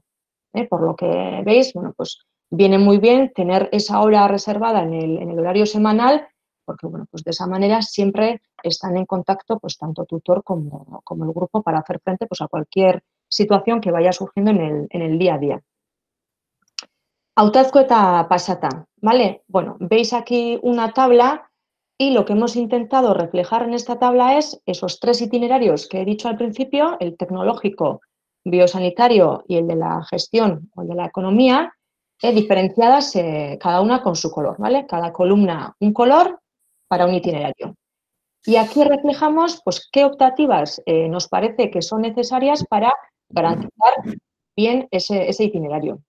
Eh, por lo que veis, bueno, pues viene muy bien tener esa hora reservada en el, en el horario semanal, porque bueno, pues de esa manera siempre están en contacto pues tanto tutor como, como el grupo para hacer frente pues a cualquier situación que vaya surgiendo en el, en el día a día. Hautazko eta pasata, ¿vale? Bueno, veis aquí una tabla y lo que hemos intentado reflejar en esta tabla es esos tres itinerarios que he dicho al principio, el tecnológico, biosanitario y el de la gestión o el de la economía, eh, diferenciadas eh, cada una con su color, ¿vale? Cada columna un color para un itinerario. Y aquí reflejamos pues, qué optativas eh, nos parece que son necesarias para garantizar bien ese, ese itinerario.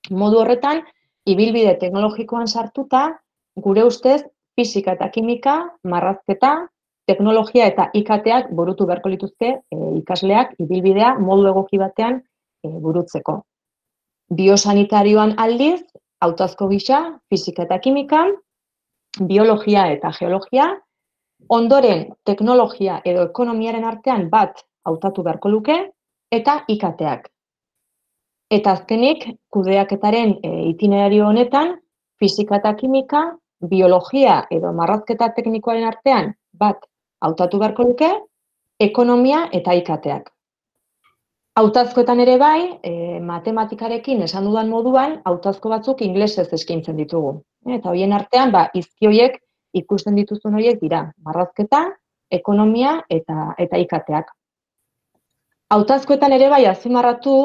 Modu horretan, ibilbide teknologikoan sartuta, gure ustez, fisika eta kimika, marrazketa, teknologia eta I K T-ak burutu beharko lituzke e, ikasleak ibilbidea modu egoki batean e, burutzeko. Biosanitarioan aldiz, hautazko gisa, fisika eta kimika, biologia eta geologia, ondoren teknologia edo ekonomiaren artean bat hautatu beharko luke, eta I K T-ak. Eta azkenik, kudeaketaren itinerario honetan, fisika eta kimika, biologia edo marrazketa teknikoaren artean bat hautatu beharko luke, ekonomia eta I K T-ak. Hautazkoetan ere bai, matematikarekin esan dudan moduan, hautazko batzuk inglesez eskaintzen ditugu. Eta horien artean, ba, izki horiek ikusten dituzun horiek dira, marrazketa, ekonomia eta I K T-ak. Hautazkoetan ere bai azpimarratu,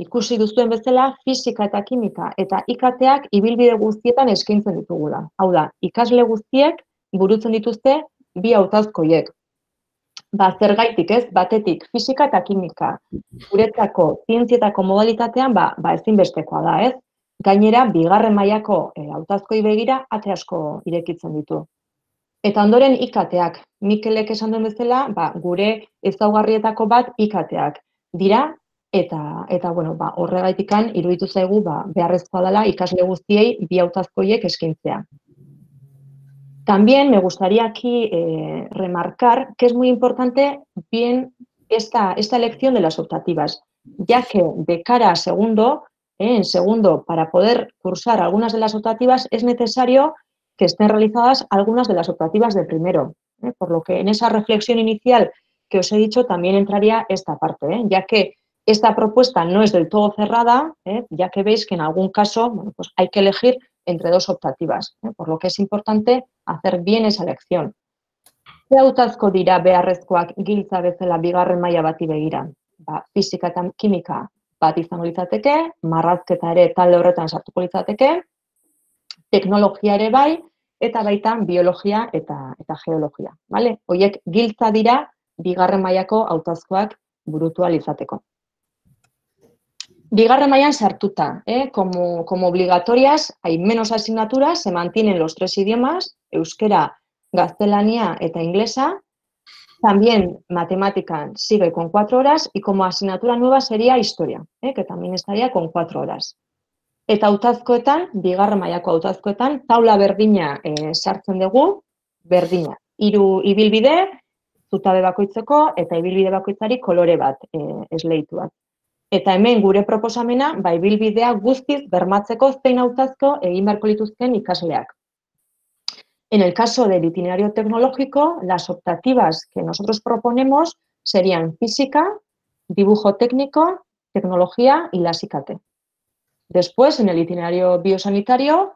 ikusi duzuen bezala, fisika eta kimika eta I K T-ak ibilbide guztietan eskaintzen ditugula. Hau da, ikasle guztiek burutzen dituzte bi hautazko horiek. Ba, zergaitik ez, batetik fisika eta kimika guretzako zientzietako modalitatean ba, ba ezinbestekoa da, ez? Gainera, bigarren mailako hautazkoi begira ate asko irekitzen ditu. Eta ondoren I K T-ak, Mikelek esan duen bezala, ba, gure ezaugarrietako bat I K T-ak dira, eta, eta bueno, ba, horregaitikan iruditu zaigu ba, beharrezkoa dela ikasle guztiei bi hautazkoiek eskaintzea. También me gustaría aquí eh, remarcar que es muy importante bien esta, esta elección de las optativas, ya que de cara a segundo, eh, en segundo, para poder cursar algunas de las optativas es necesario que estén realizadas algunas de las optativas de primero, ¿eh? Por lo que en esa reflexión inicial que os he dicho también entraría esta parte, ¿eh? Ya que esta propuesta no es del todo cerrada, ¿eh? Ya que veis que en algún caso bueno, pues hay que elegir entre dos optativas, ¿eh? Por lo que es importante hacer bien esa elección. Ze hautazko dira beharrezkoak giltza bezala bigarren maila bati begira? Ba, fisika eta kimika bat izango litzateke, marrazketa ere talde horretan sartuko litzateke, teknologia ere bai, eta baita biologia eta, eta geologia. Vale? Horiek giltza dira bigarren mailako hautazkoak burutu ahal izateko. Bigarren mailan sartuta, ¿eh? como, como obligatorias hay menos asignaturas, se mantienen los tres idiomas, euskera, gaztelania eta inglesa. También matemática sigue con cuatro horas y como asignatura nueva sería historia, ¿eh? Que también estaría con cuatro horas. Eta hautazkoetan, bigarren mailako hautazkoetan, taula berdina e, sartzen dugu, berdina. Hiru ibilbide, zutabe bakoitzeko eta ibilbide bakoitzari kolore bat e, esleituak. Eta hemen gure proposamena, ba, ibilbidea guztiz bermatzeko zein hautazko egin beharko lituzken ikasleak. En el caso del itinerario tecnológico, las optativas que nosotros proponemos serían física, dibujo técnico, tecnología y las I K T. Después, en el itinerario biosanitario,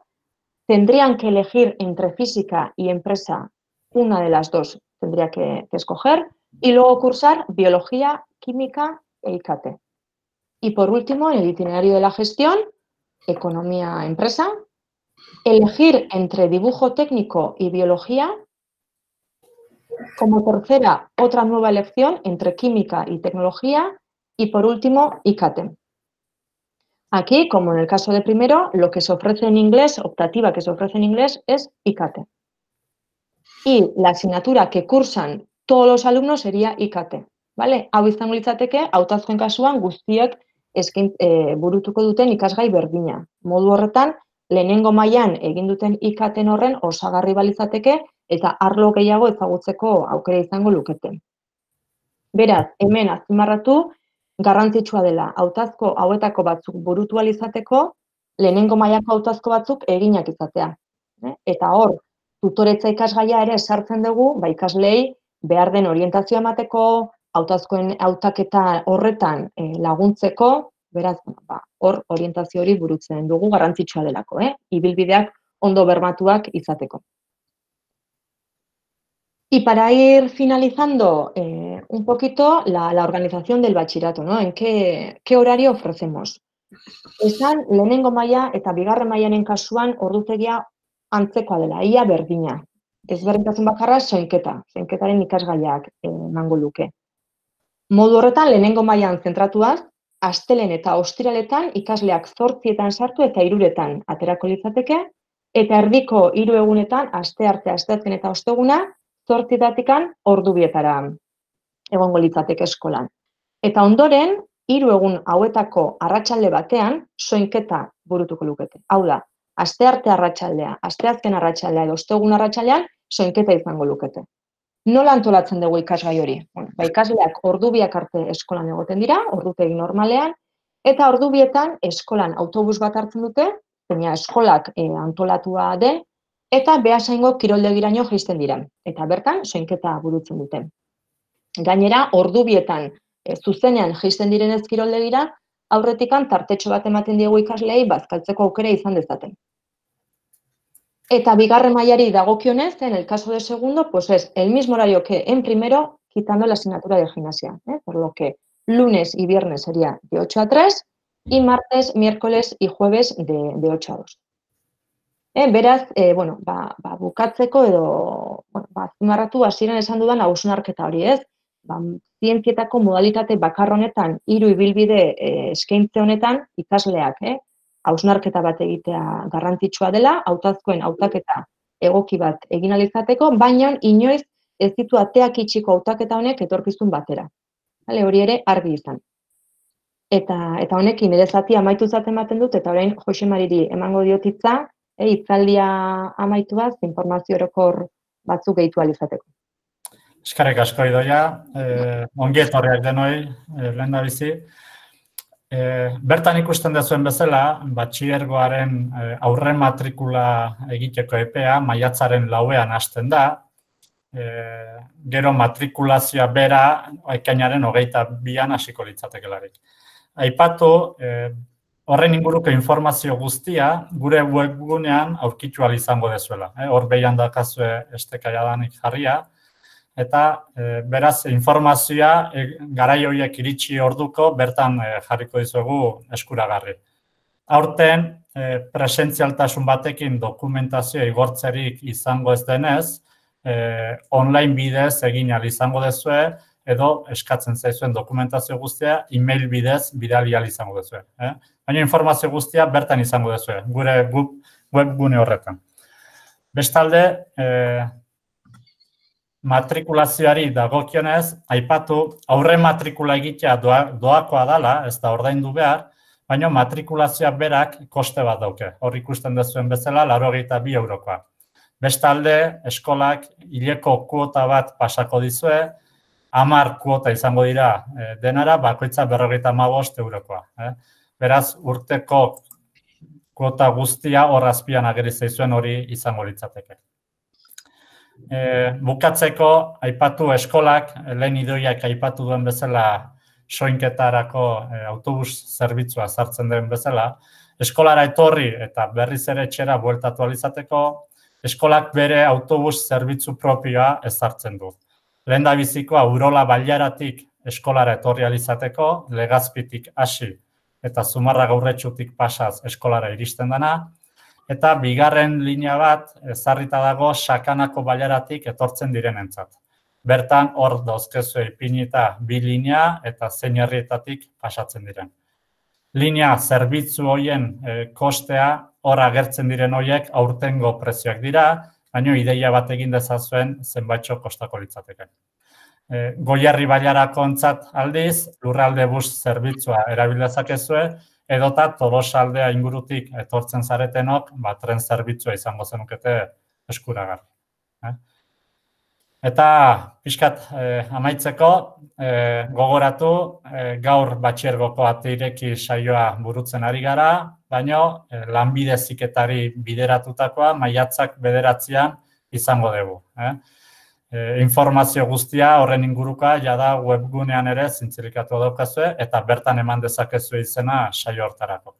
tendrían que elegir entre física y empresa, una de las dos tendría que, que escoger, y luego cursar biología, química e I K T. Y por último, en el itinerario de la gestión, economía-empresa, elegir entre dibujo técnico y biología. Como tercera, otra nueva elección entre química y tecnología. Y por último, I K T. Aquí, como en el caso de primero, lo que se ofrece en inglés, optativa que se ofrece en inglés, es I K T. Y la asignatura que cursan todos los alumnos sería I K T. ¿Vale? Hau izango litzateke, hautazkoen kasuan guztiek eskin, e, burutuko duten ikasgai berdina. Modu horretan, lehenengo mailan egin duten I K T horren osagarri balitzateke eta arlo gehiago ezagutzeko aukera izango lukete. Beraz, hemen azpimarratu, garrantzitsua dela hautazko hauetako batzuk burutu ahal izateko, lehenengo mailako hautazko batzuk eginak izatea. Eta hor, tutoretza ikasgaia ere sartzen dugu, ba ikaslei behar den orientazioa emateko, hautazkoen hautaketa horretan eh, laguntzeko, beraz, ba, hor orientazio hori burutzen dugu garrantzitsua delako, eh? Ibilbideak ondo bermatuak izateko. Y para ir finalizando eh, un poquito la, la organización del bachillerato, ¿no? ¿En qué, qué horario ofrecemos? Esan, lehenengo maila eta bigarren mailaren kasuan ordutegia antzekoa dela, ia berdina. Ezberdintasun bakarra soinketa, soinketaren ikasgaiak emango luke. Modu horretan, lehenengo mailan zentratuaz, astelen eta ostiraletan ikasleak zortzietan sartu eta hiruretan aterako litzateke, eta erdiko hiru egunetan, astearte, asteazken eta osteguna, zortzietatikan ordu bietara egongo litzateke eskolan. Eta ondoren, hiru egun hauetako arratsalde batean, soinketa burutuko lukete. Hau da, astearte arratsaldea, asteazken arratsaldea edo ostegun arratsaldean, soinketa izango lukete. Nola antolatzen dugu ikasgai hori? Bueno, ba, ikasleak ordu biak arte eskolan egoten dira, ordutegi normalean, Eta ordu bietan eskolan autobus bat hartzen dute, baina eskolak e, antolatua de, eta Beasaingo kiroldegiraino jaisten dira. Eta bertan, soinketa burutzen dute. Gainera, ordu bietan e, zuzenean jaisten direnez kiroldegira, aurretikan tartetxo bat ematen diegu ikaslei bazkaltzeko aukera izan dezaten. Eta bigarren mailari dagokionez, en el caso de segundo, pues es el mismo horario que en primero, quitando la asignatura de gimnasia, ¿eh? Por lo que lunes y viernes sería de ocho a tres y martes, miércoles y jueves de, de ocho a dos. Eh, beraz, eh, bueno, ba, ba, bukatzeko edo, bueno, ba, azpimarratu hasieran esan dudan hausnarketa hori, ez? Ba, zientzietako modalitate bakar honetan, hiru ibilbide eh, eskaintze honetan, ikasleak, eh? hausnarketa bat egitea garrantzitsua dela, hautazkoen hautaketa egoki bat egin ahal izateko, baina inoiz ez ditu ateak itxiko hautaketa honek etorkizun batera. Hale, hori ere argi izan. Eta, eta honekin ere zati amaitu zaten ematen dut, eta orain Jose Mariri emango diotitza, e, hitzaldia amaituaz, informazio orokor batzuk gehitu ahal izateko. Eskerrik asko Idoia, eh, ongi etorriak denoi, eh, lehen da bizi. E, bertan ikusten dezuen bezala, batxilergoaren e, aurre matrikula egiteko epea maiatzaren lauean hasten da. E, gero matrikulazioa bera ekainaren hogeita bian hasiko litzatekelarik. Aipatu, e, horren inguruko informazio guztia gure webgunean aurkitu ahal izango dezuela. E, hor behian dakazue estekaiadanik jarria. Eta e, beraz informazioa e, garai horiek iritsi orduko bertan e, jarriko dizuegu eskuragarri. Aurten e, presentzialtasun batekin dokumentazioa igortzerik izango ez denez, e, online bidez egin ahal izango dezue edo eskatzen zaizuen dokumentazio guztia e-mail bidez bidali ahal izango dezue. Eh? Baina informazio guztia bertan izango dezue, gure webgune horretan. Bestalde, e, matrikulazioari dagokionez, aipatu aurre matrikula egitea doa, doakoa dela, ez da ordaindu behar, baina matrikulazioa berak koste bat dauke. Hor ikusten dezuen bezala, laurogeita bi eurokoa. Bestalde, eskolak hileko kuota bat pasako dizue, hamar kuota izango dira e, denara, bakoitza berrogeita hamabost eurokoa. Eh? Beraz, urteko kuota guztia hor azpian ageri zaizuen hori izango litzateke. E, bukatzeko, aipatu eskolak, lehen Idoiak aipatu duen bezala soinketarako e, autobus zerbitzua sartzen den bezala, eskolara etorri eta berriz ere etxera bueltatu ahal izateko, eskolak bere autobus zerbitzu propioa ezartzen du. Lehen da bizikoa Urola Bailaratik eskolara etorri ahal izateko, Legazpitik hasi eta Zumarra Gaurretxutik pasaz eskolara iristen dena, eta bigarren linea bat ezarrita dago Sakanako Bailaratik etortzen direnentzat. Bertan hor dauzkezue ipinita bi linea eta zein herrietatik pasatzen diren. Linea zerbitzu hoien e, kostea hor agertzen diren horiek aurtengo prezioak dira, baina ideia bat egin dezazuen zenbaitxo kostako litzateke. E, Goierri Bailarako ontzat aldiz, lurralde bus zerbitzua erabil dezakezue, edota Tolosaldea ingurutik etortzen zaretenok, ba, tren zerbitzua izango zenukete eskuragarri. Eh? Eta pixkat eh, amaitzeko, eh, gogoratu, eh, gaur batxiergoko ate ireki saioa burutzen ari gara, baina eh, lanbide heziketari bideratutakoa maiatzak bederatzean izango dugu. Eh? E, informazio guztia horren inguruka jada webgunean ere zintzilikatu daukazue eta bertan eman dezakezue izena saio hortarako.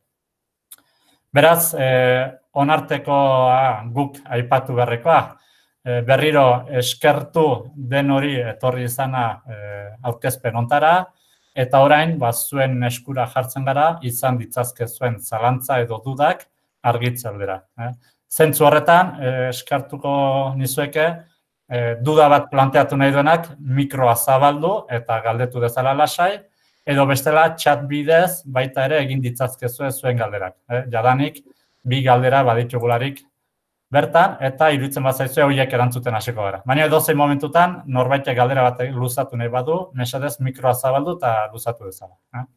Beraz, e, onartekoa guk aipatu berrekoa, e, berriro eskertu den hori etorri izana e, aurkezpen ontara, eta orain ba, zuen eskura jartzen gara izan ditzazke zuen zalantza edo dudak argitze aldera. Eh? Zentzu horretan, e, eskertuko nizueke, E, duda bat planteatu nahi duenak mikroa zabaldu eta galdetu dezala lasai, edo bestela chat bidez baita ere egin ditzazkezue zuen galderak. E, jadanik, bi galdera baditugularik bertan, eta iruditzen bat zaizue horiek erantzuten hasiko gara. Baina edozein momentutan, norbaitek galdera bat luzatu nahi badu, mesedez mikroa zabaldu eta luzatu dezala. Eh?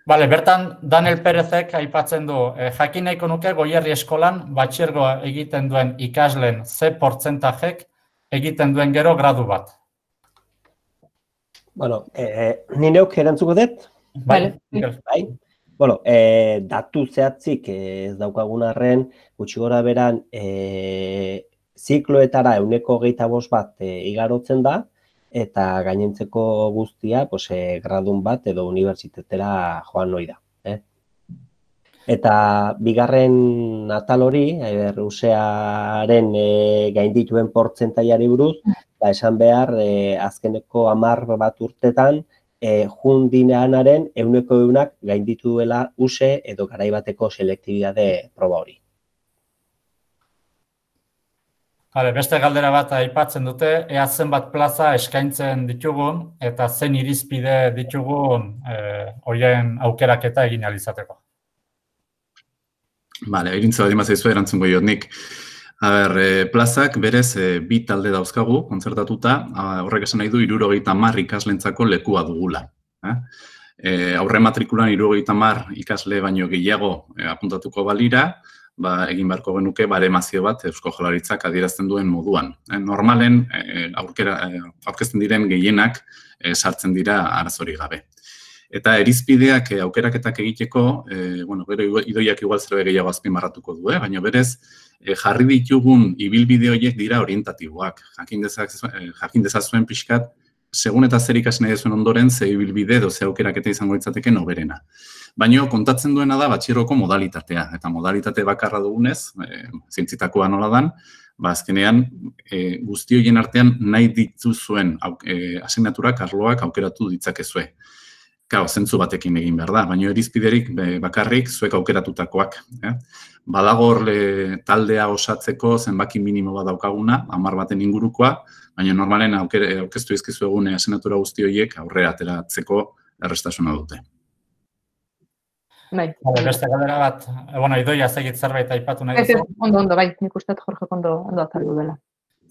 Bale, bertan Daniel Perezek aipatzen du, eh, jakin nahiko nuke Goierri eskolan batxiergoa egiten duen ikasleen ze portzentajek egiten duen gero gradu bat. Bueno, eh, ni neuk erantzuko dut? Bai. Bai. Bueno, eh, datu zehatzik ez daukagun arren, gutxi gora beran, eh, zikloetara ehuneko hogeita bost bat eh, igarotzen da, eta gainentzeko guztia, pues, eh, gradun bat edo unibertsitatera joan noi da. Eh? Eta bigarren atal hori, eh, Rusiaren eh, gaindituen portzentaiari buruz, ba, esan behar, eh, azkeneko hamar bat urtetan, E, jundineanaren ehuneko ehunak gainditu duela U S E edo garaibateko selektibitate proba hori. Hale, beste galdera bat aipatzen dute, ea zenbat plaza eskaintzen ditugun eta zein irizpide ditugun eh, horien aukeraketa egin alizateko. Bale, egintza bat imazaizu erantzungo jot nik. A ber, e, plazak berez e, bi talde dauzkagu, kontzertatuta, horrek esan nahi du hirurogeita hamar ikaslentzako lekua dugula. Eh? E, aurre matrikulan hirurogeita hamar ikasle baino gehiago e, apuntatuko balira, ba, egin beharko genuke baremazio bat Eusko Jaurlaritzak adierazten duen moduan. E, normalen, e, aurkera, e, aurkezten diren gehienak e, sartzen dira arazorik gabe. Eta irizpideak e, aukeraketak egiteko, e, bueno, gero idoiak igual zerbait gehiago azpimarratuko du, eh? Baina berez, E, jarri ditugun ibilbide horiek dira orientatiboak. Jakin dezazuen pixkat, segun eta zer ikasi nahi duzuen ondoren, ze ibilbide edo ze aukeraketa izango litzateke noberena. Baina kontatzen duena da batxierroko modalitatea. Eta modalitate bakarra dugunez, e, zientzitakoa nola dan, ba azkenean e, guzti horien artean nahi dituzuen e, asignaturak, arloak aukeratu ditzakezue. Kao, zentzu batekin egin behar da, baina irizpiderik bakarrik zuek aukeratutakoak. Eh? Badago horle taldea osatzeko zenbaki minimo bat daukaguna, hamar baten ingurukoa, baina normalen aurkeztu izkizu egun asignatura guzti horiek aurrera ateratzeko errestasuna dute. Bai. Beste galdera bat, bueno, idoia zegit zerbait aipatu nahi duzu. Ondo, ondo, bai, nik uste Jorge ondo ondo azaldu dela.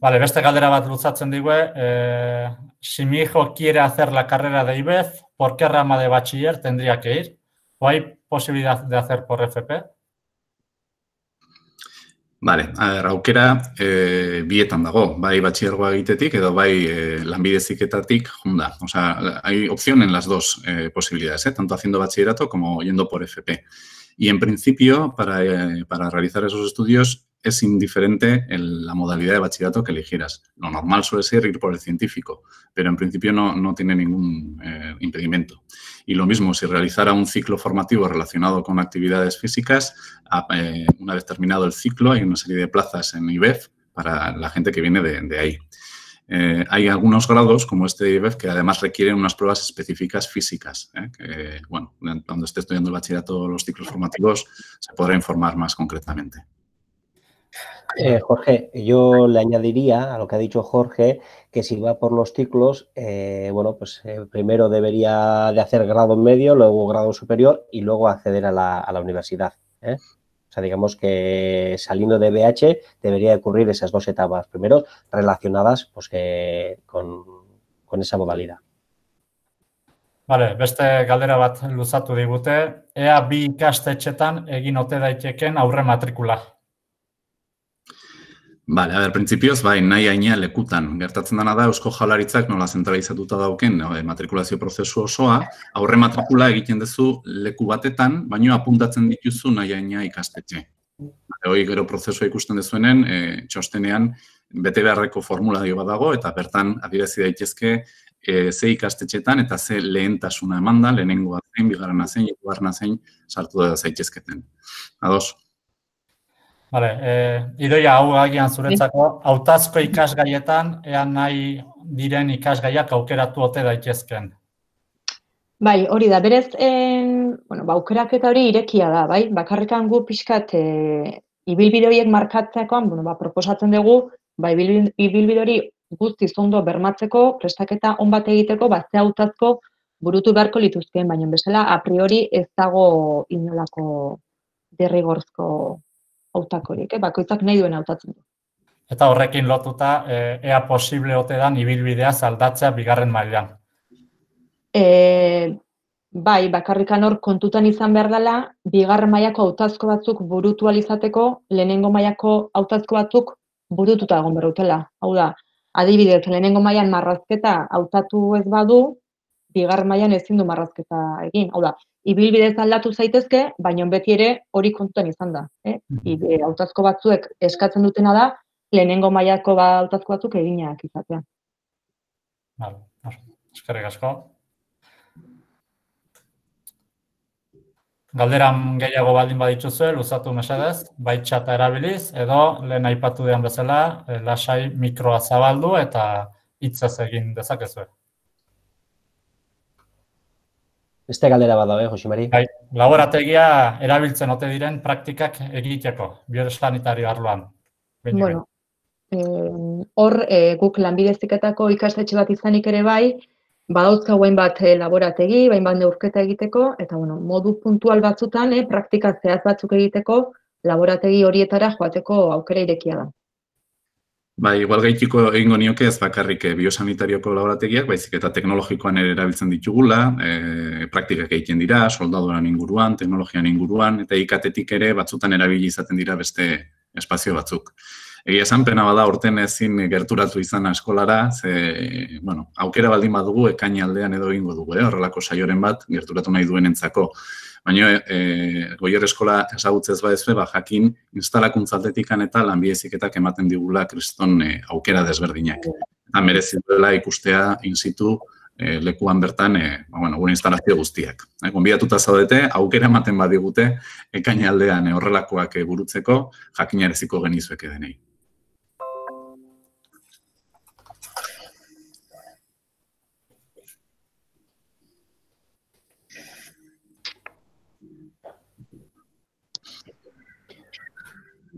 Vale, beste galdera bat luzatzen digue, eh, si mi hijo quiere hacer la carrera de I B E F, ¿por qué rama de bachiller tendría que ir? ¿O hay posibilidad de hacer por F P? Vale, a ver, aukera e, bietan dago, bai batxillergoa egitetik edo bai e, lanbide heziketatik junda. O sea, hay opción en las dos eh, posibilidades, ¿eh? Tanto haciendo bachillerato como yendo por F P. Y en principio, para, eh, para realizar esos estudios, es indiferente el, la modalidad de bachillerato que eligieras. Lo normal suele ser ir por el científico, pero en principio no, no tiene ningún eh, impedimento. Y lo mismo, si realizara un ciclo formativo relacionado con actividades físicas, eh, una vez terminado el ciclo, hay una serie de plazas en I B E F para la gente que viene de, de ahí. Eh, hay algunos grados, como este de I B E F, que además requieren unas pruebas específicas físicas, ¿eh? Que, bueno, cuando esté estudiando el bachillerato, los ciclos formativos, se podrá informar más concretamente. Eh, Jorge, yo le añadiría a lo que ha dicho Jorge, que si va por los ciclos, eh, bueno, pues eh, primero debería de hacer grado medio, luego grado superior y luego acceder a la, a la universidad. ¿eh? O sea, digamos que saliendo de B H debería ocurrir esas dos etapas, primero relacionadas pues, eh, con, con esa modalidad. Vale, beste galdera bat luzatu digute, ea bi ikastetxetan egin ote daiteken aurre matrikula. Vale, a ver, printzipioz, bai, nahi haina lekutan. Gertatzen dena da, Eusko Jaurlaritzak nola zentralizatuta dauken no, matrikulazio prozesu osoa, aurre matrikula egiten duzu leku batetan, baino apuntatzen dituzu nahi haina ikastetxe. Hoi gero prozesua ikusten dezuenen, e, txostenean bete beharreko formulario bat dago, eta bertan adierazi daitezke e, ze ikastetxetan eta ze lehentasuna eman da, lehenengoa zein, bigarrena zein, hirugarrena zein sartu da zaitezketen. Ados? Vale, eh, idoia hau agian zuretzako, hautazko ikasgaietan, ea nahi diren ikasgaiak aukeratu ote daitezken. Bai, hori da, berez, en, bueno, ba, aukeraketa hori irekia da, bai? Bakarrikan gu pixkat e, ibilbide horiek markatzekoan, bueno, ba, proposatzen dugu, ba, ibilbide hori guztiz ondo bermatzeko, prestaketa on bat egiteko, ba, ze hautazko burutu beharko lituzkeen, baina bezala, a priori ez dago inolako derrigorzko hautakorik, eh? Bakoitzak nahi duen hautatzen du. Eta horrekin lotuta, ea posible ote dan ibilbidea aldatzea bigarren mailan. E, bai, bakarrikan hor kontutan izan behar dela, bigarren mailako hautazko batzuk burutu alizateko, lehenengo mailako hautazko batzuk burututa egon berrutela. Hau da, adibidez, lehenengo mailan marrazketa hautatu ez badu, bigarren mailan ezin du marrazketa egin. Hau da, ibilbidez aldatu zaitezke, baina beti ere hori kontutan izan da. Eh? Hautazko batzuek eskatzen dutena da, lehenengo mailako ba hautazko batzuk eginak izatea. Vale, eskerrik asko. Galderan gehiago baldin badituzue, luzatu mesedez, bai txata erabiliz, edo lehen aipatu dian bezala, lasai mikroa zabaldu eta hitzez egin dezakezue. Beste galdera bat dabe, Jose Mari. Bai, laborategia erabiltzen ote diren praktikak egiteko, biosanitario arloan. Bueno, hor guk lanbide heziketako ikastetxe bat izanik ere bai, badauzka guain bat laborategi, bain bat neurketa egiteko, eta bueno, modu puntual batzutan, eh, praktika zehaz batzuk egiteko, laborategi horietara joateko aukera irekia da. Ba, igual gaitiko egingo nioke ez bakarrik biosanitarioko laborategiak, baizik eta teknologikoan ere erabiltzen ditugula, e, praktikak egiten dira, soldaduran inguruan, teknologian inguruan, eta ikatetik ere batzutan erabili izaten dira beste espazio batzuk. Egia esan, pena bada orten ezin gerturatu izan eskolara, ze, bueno, aukera baldin badugu ekain aldean edo egingo dugu, eh? Horrelako saioren bat gerturatu nahi duenentzako. Baina e, Goierri eskola ezagutzez badezue, ba, jakin instalakuntzaldetikan eta lanbide heziketak ematen digula kriston e, aukera desberdinak. Eta merezi duela ikustea in situ e, lekuan bertan e, ba, bueno, gure instalazio guztiak. E, gonbidatuta zaudete, aukera ematen badigute ekain aldean e, horrelakoak e, burutzeko jakinareziko genizueke denei.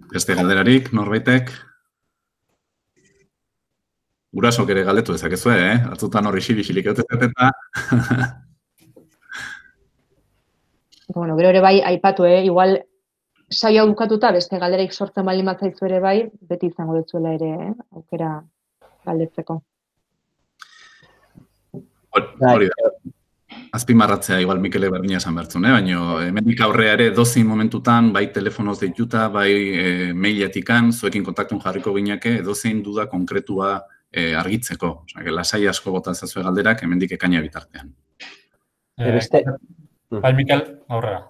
Beste galderarik, norbaitek? Gurasok ere galdetu dezakezue, eh? Atzutan horri xili-xilik eutezet eta... Bueno, gero ere bai, aipatu, eh? Igual, saio bukatuta beste galderaik sortzen baldin batzaizu ere bai, beti izango dutzuela ere, eh? Aukera galdetzeko. Hori da. Azpimarratzea, igual Mikele berdina esan bertzun, eh? Baina hemendik aurrea ere dozein momentutan, bai telefonoz deituta, bai e, mailetikan, zuekin kontaktun jarriko gineke, dozein duda konkretua e, argitzeko. Osa, lasai asko bota zazue galderak, hemendik ekaina bitartean. Eh, beste... Bai, Mikel, aurrera.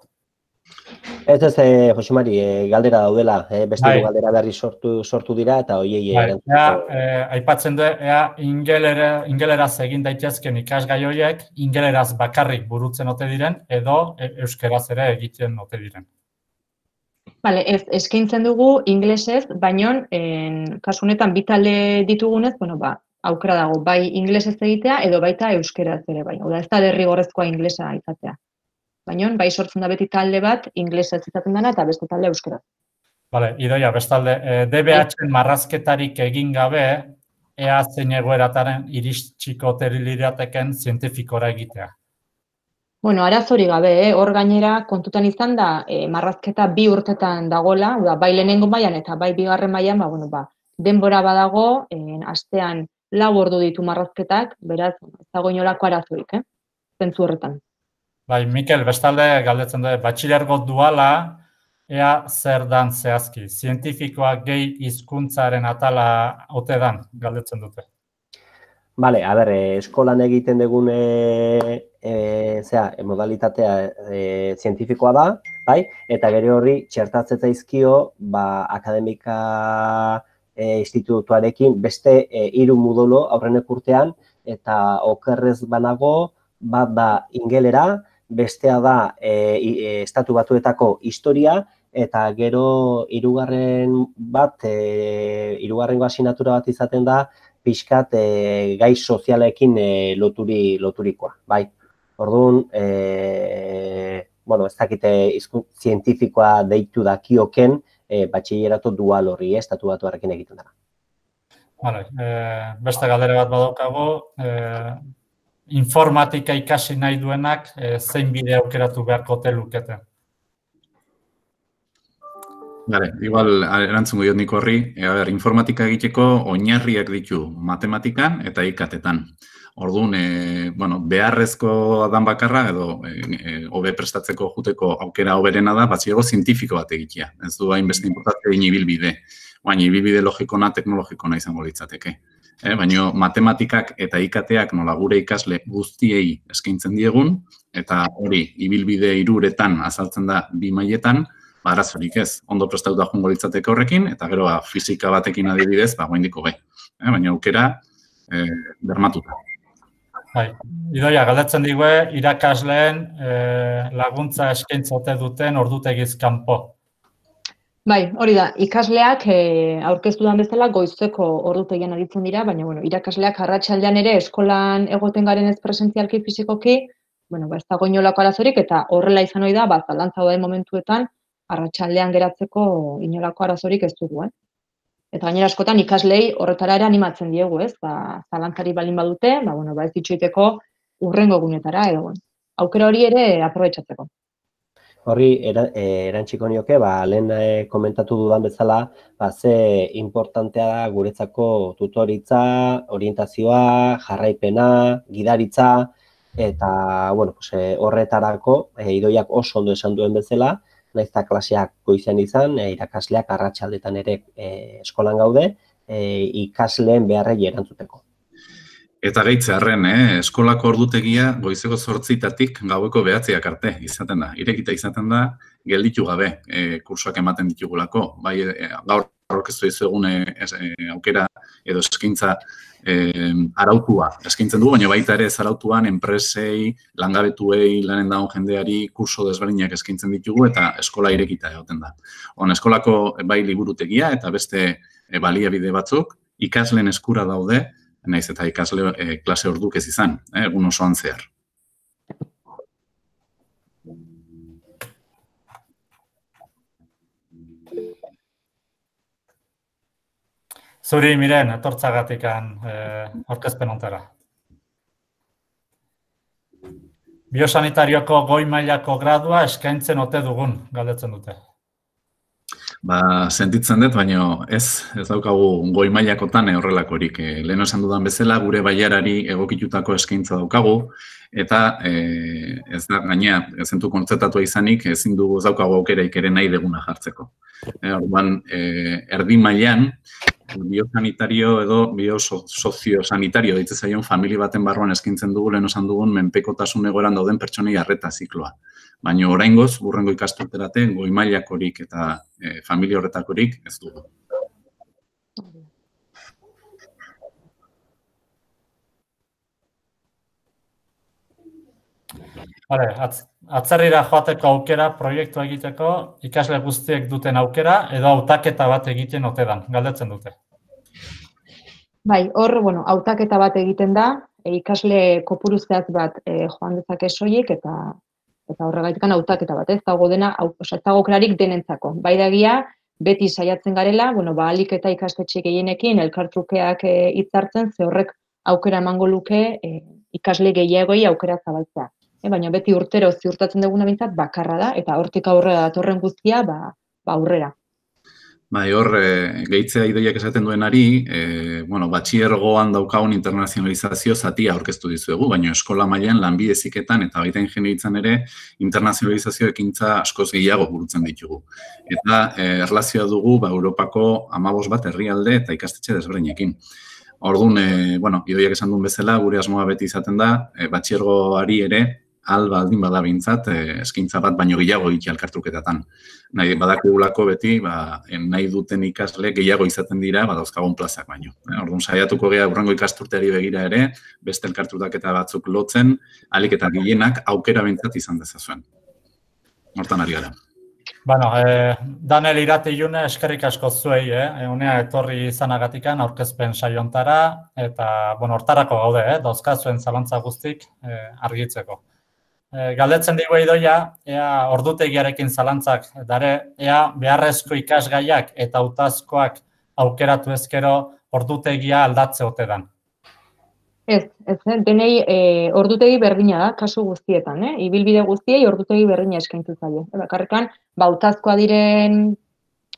Ez ez, eh, Jose Mari, eh, galdera daudela, eh, beste bai. Galdera berri sortu, sortu dira eta hoiei bai, eh, aipatzen du, ea ingelera, ingeleraz egin daitezken ikasgai horiek, ingeleraz bakarrik burutzen ote diren, edo euskeraz ere egiten ote diren. Vale, ez, eskaintzen dugu inglesez, baino, kasu honetan bi talde ditugunez, bueno, ba, aukera dago, bai inglesez egitea, edo baita euskeraz ere bai. Oda, ez da derrigorrezkoa inglesa izatea. Baina, bai sortzen da beti talde bat, inglesez izaten dena eta beste talde euskera. Bale, Idoia, bestalde, D B H-en marrazketarik egin gabe, ea zein egoerataren iristxiko lirateken zientifikora egitea. Bueno, arazori gabe, eh? Hor gainera kontutan izan da, eh, marrazketa bi urtetan dagola, da, bai lehenengo mailan eta bai bigarren mailan, ba, bueno, ba, denbora badago, eh, astean lau ordu ditu marrazketak, beraz, ez dago inolako arazorik, eh? Zentzu horretan. Bai, Mikel, bestalde galdetzen du, batxilergo duala, ea zer dan zehazki. Zientifikoa gehi hizkuntzaren atala ote dan, galdetzen dute. Bale, a ber, eskolan egiten dugun e, e, zera, modalitatea e, zientifikoa da, bai? Eta gero horri txertatzen zaizkio ba, akademika e, institutuarekin beste e, hiru modulo aurrenek urtean, eta okerrez banago, bat da ingelera, bestea da e, e, estatu batuetako historia, eta gero hirugarren bat, e, hirugarrengo asignatura bat izaten da, pixkat e, gai sozialekin e, loturi, loturikoa, bai. Orduan, e, bueno, ez dakite hizkuntza zientifikoa deitu dakioken, e, batxilleratu dual horri, eh, estatu batuarekin egiten dara. Vale, e, beste galdera bat badaukago, e, informatika ikasi nahi duenak e, zein bide aukeratu beharko ote lukete? Bale, igual erantzungo diot nik horri, e, a ber, informatika egiteko oinarriak ditu matematikan eta ikatetan. Orduan, e, bueno, beharrezko dan bakarra edo e, hobe prestatzeko juteko aukera hoberena da, batxiego zientifiko bat egitea. Ez du hainbeste inportatzea ibilbide, baina ibilbide logikona, teknologikona izango litzateke. eh, baina matematikak eta I K Teak nola gure ikasle guztiei eskaintzen diegun, eta hori ibilbide hiruretan azaltzen da bi mailetan, ba, arazorik ez, ondo prestatuta joango litzateke horrekin, eta gero ba, fisika batekin adibidez, ba, goindiko gai. Eh, baina aukera eh, bermatuta. Bai, Idoia, galdetzen digue, irakasleen eh, laguntza eskaintzote duten ordutegiz kanpo. Bai, hori da, ikasleak e, aurkeztu den bezala goizeko ordutegian aritzen dira, baina bueno, irakasleak arratsaldean ere eskolan egoten garen ez presentzialki fisikoki, bueno, ba, ez dago inolako arazorik, eta horrela izan ohi da, ba, zalantza dauden momentuetan, arratsaldean geratzeko inolako arazorik ez dugu, eh? Eta gainera askotan ikaslei horretara ere animatzen diegu, ez? Ba, zalantzari balin badute, ba, bueno, ba, ez ditxoiteko urrengo egunetara, edo, aukera hori ere aprobetxatzeko. Horri erantziko nioke, ba, lehen e, komentatu dudan bezala, ba, ze importantea da guretzako tutoritza, orientazioa, jarraipena, gidaritza, eta bueno, pues, e, horretarako e, Idoiak oso ondo esan duen bezala, nahiz eta klaseak goizean izan, e, irakasleak arratsaldetan ere e, eskolan gaude, e, ikasleen beharrei erantzuteko. Eta gehitzearren, eh? Eskolako ordutegia goizeko zortzitatik gaueko behatziak arte izaten da. Irekita izaten da, gelditu gabe e, kursoak ematen ditugulako. Bai, e, gaur aurkeztu dizuegun e, e, aukera edo eskaintza e, arautua eskaintzen dugu, baina baita ere ez arautuan enpresei, langabetuei, lanen dagoen jendeari kurso desberdinak eskaintzen ditugu eta eskola irekita egoten da. On, eskolako bai liburutegia eta beste e, baliabide batzuk ikasleen eskura daude, naiz eta ikasle e, klase orduk ez izan, eh, egun osoan zehar. Zuri, Miren, etortzagatikan eh, aurkezpen ontara. Biosanitarioko goi mailako gradua eskaintzen ote dugun, galdetzen dute. Ba, sentitzen dut, baina ez, ez daukagu goi mailakotan horrelakorik. E, lehen esan dudan bezala, gure bailarari egokitutako eskaintza daukagu, eta e, ez da, gaina, ezentu kontzertatua izanik, ezin dugu ez daukagu aukeraik ere nahi deguna jartzeko. E, orduan, e, erdi mailan, biosanitario edo biosoziosanitario ditze zaion familia baten barruan eskaintzen dugu, lehen esan dugun, menpekotasun egoeran dauden pertsonei arreta zikloa. Baina oraingoz, burrengo ikasturterate, goi mailakorik eta e, familia horretakorik ez dugu. Hale, atz, atzerrira joateko aukera, proiektu egiteko, ikasle guztiek duten aukera, edo hautaketa bat egiten ote dan, galdetzen dute. Bai, hor, bueno, hautaketa bat egiten da, e, ikasle kopuru zehatz bat e, joan dezake soilik, eta eta horregatikan hautaketa bat, ez dago dena, ez dago aukerarik denentzako. Bai dagia, beti saiatzen garela, bueno, ba, ahalik eta ikastetxe gehienekin elkartrukeak hitzartzen, ze horrek aukera emango luke e, ikasle gehiagoi aukera zabaltzea. E, baina beti urtero ziurtatzen duguna bintzat bakarra da, eta hortik aurrera datorren guztia, ba, ba aurrera. Bai, hor, e, gehitzea Idoiak esaten duenari, e, bueno, batxiergoan daukagun internazionalizazio zatia aurkeztu dizuegu, baina eskola mailan lanbide heziketan eta baita ingeniaritzan ere internazionalizazio ekintza askoz gehiago burutzen ditugu. Eta e, erlazioa dugu ba, Europako hamabost bat herrialde eta ikastetxe desberdinekin. Orduan, e, bueno, Idoiak esan duen bezala, gure asmoa beti izaten da, e, batxiergoari ere, alba aldin bada bintzat, eskaintza bat baino gehiago egitea elkartruketatan. Nahi badakigulako beti, ba, nahi duten ikasle gehiago izaten dira, badauzkagun plazak baino. Orduan, saiatuko geha urrengo ikasturteari begira ere, beste elkartrutaketa batzuk lotzen, ahalik eta gehienak aukera bintzat izan dezazuen. Hortan ari gara. Bueno, eh, Daniel Irati June, eskerrik asko zuei, eh? Unea etorri izanagatikan aurkezpen saiontara, eta, bueno, hortarako gaude, eh? Dauzkazuen zalantza guztik eh, argitzeko. E, galdetzen digu Idoia, ea ordutegiarekin zalantzak dare, ea beharrezko ikasgaiak eta hautazkoak aukeratu ezkero ordutegia aldatze ote dan. Ez, ez, denei e, ordutegi berdina da, kasu guztietan, eh? Ibilbide guztiei ordutegi berdina eskaintu zaio. Bakarrikan, ba, hautazkoa diren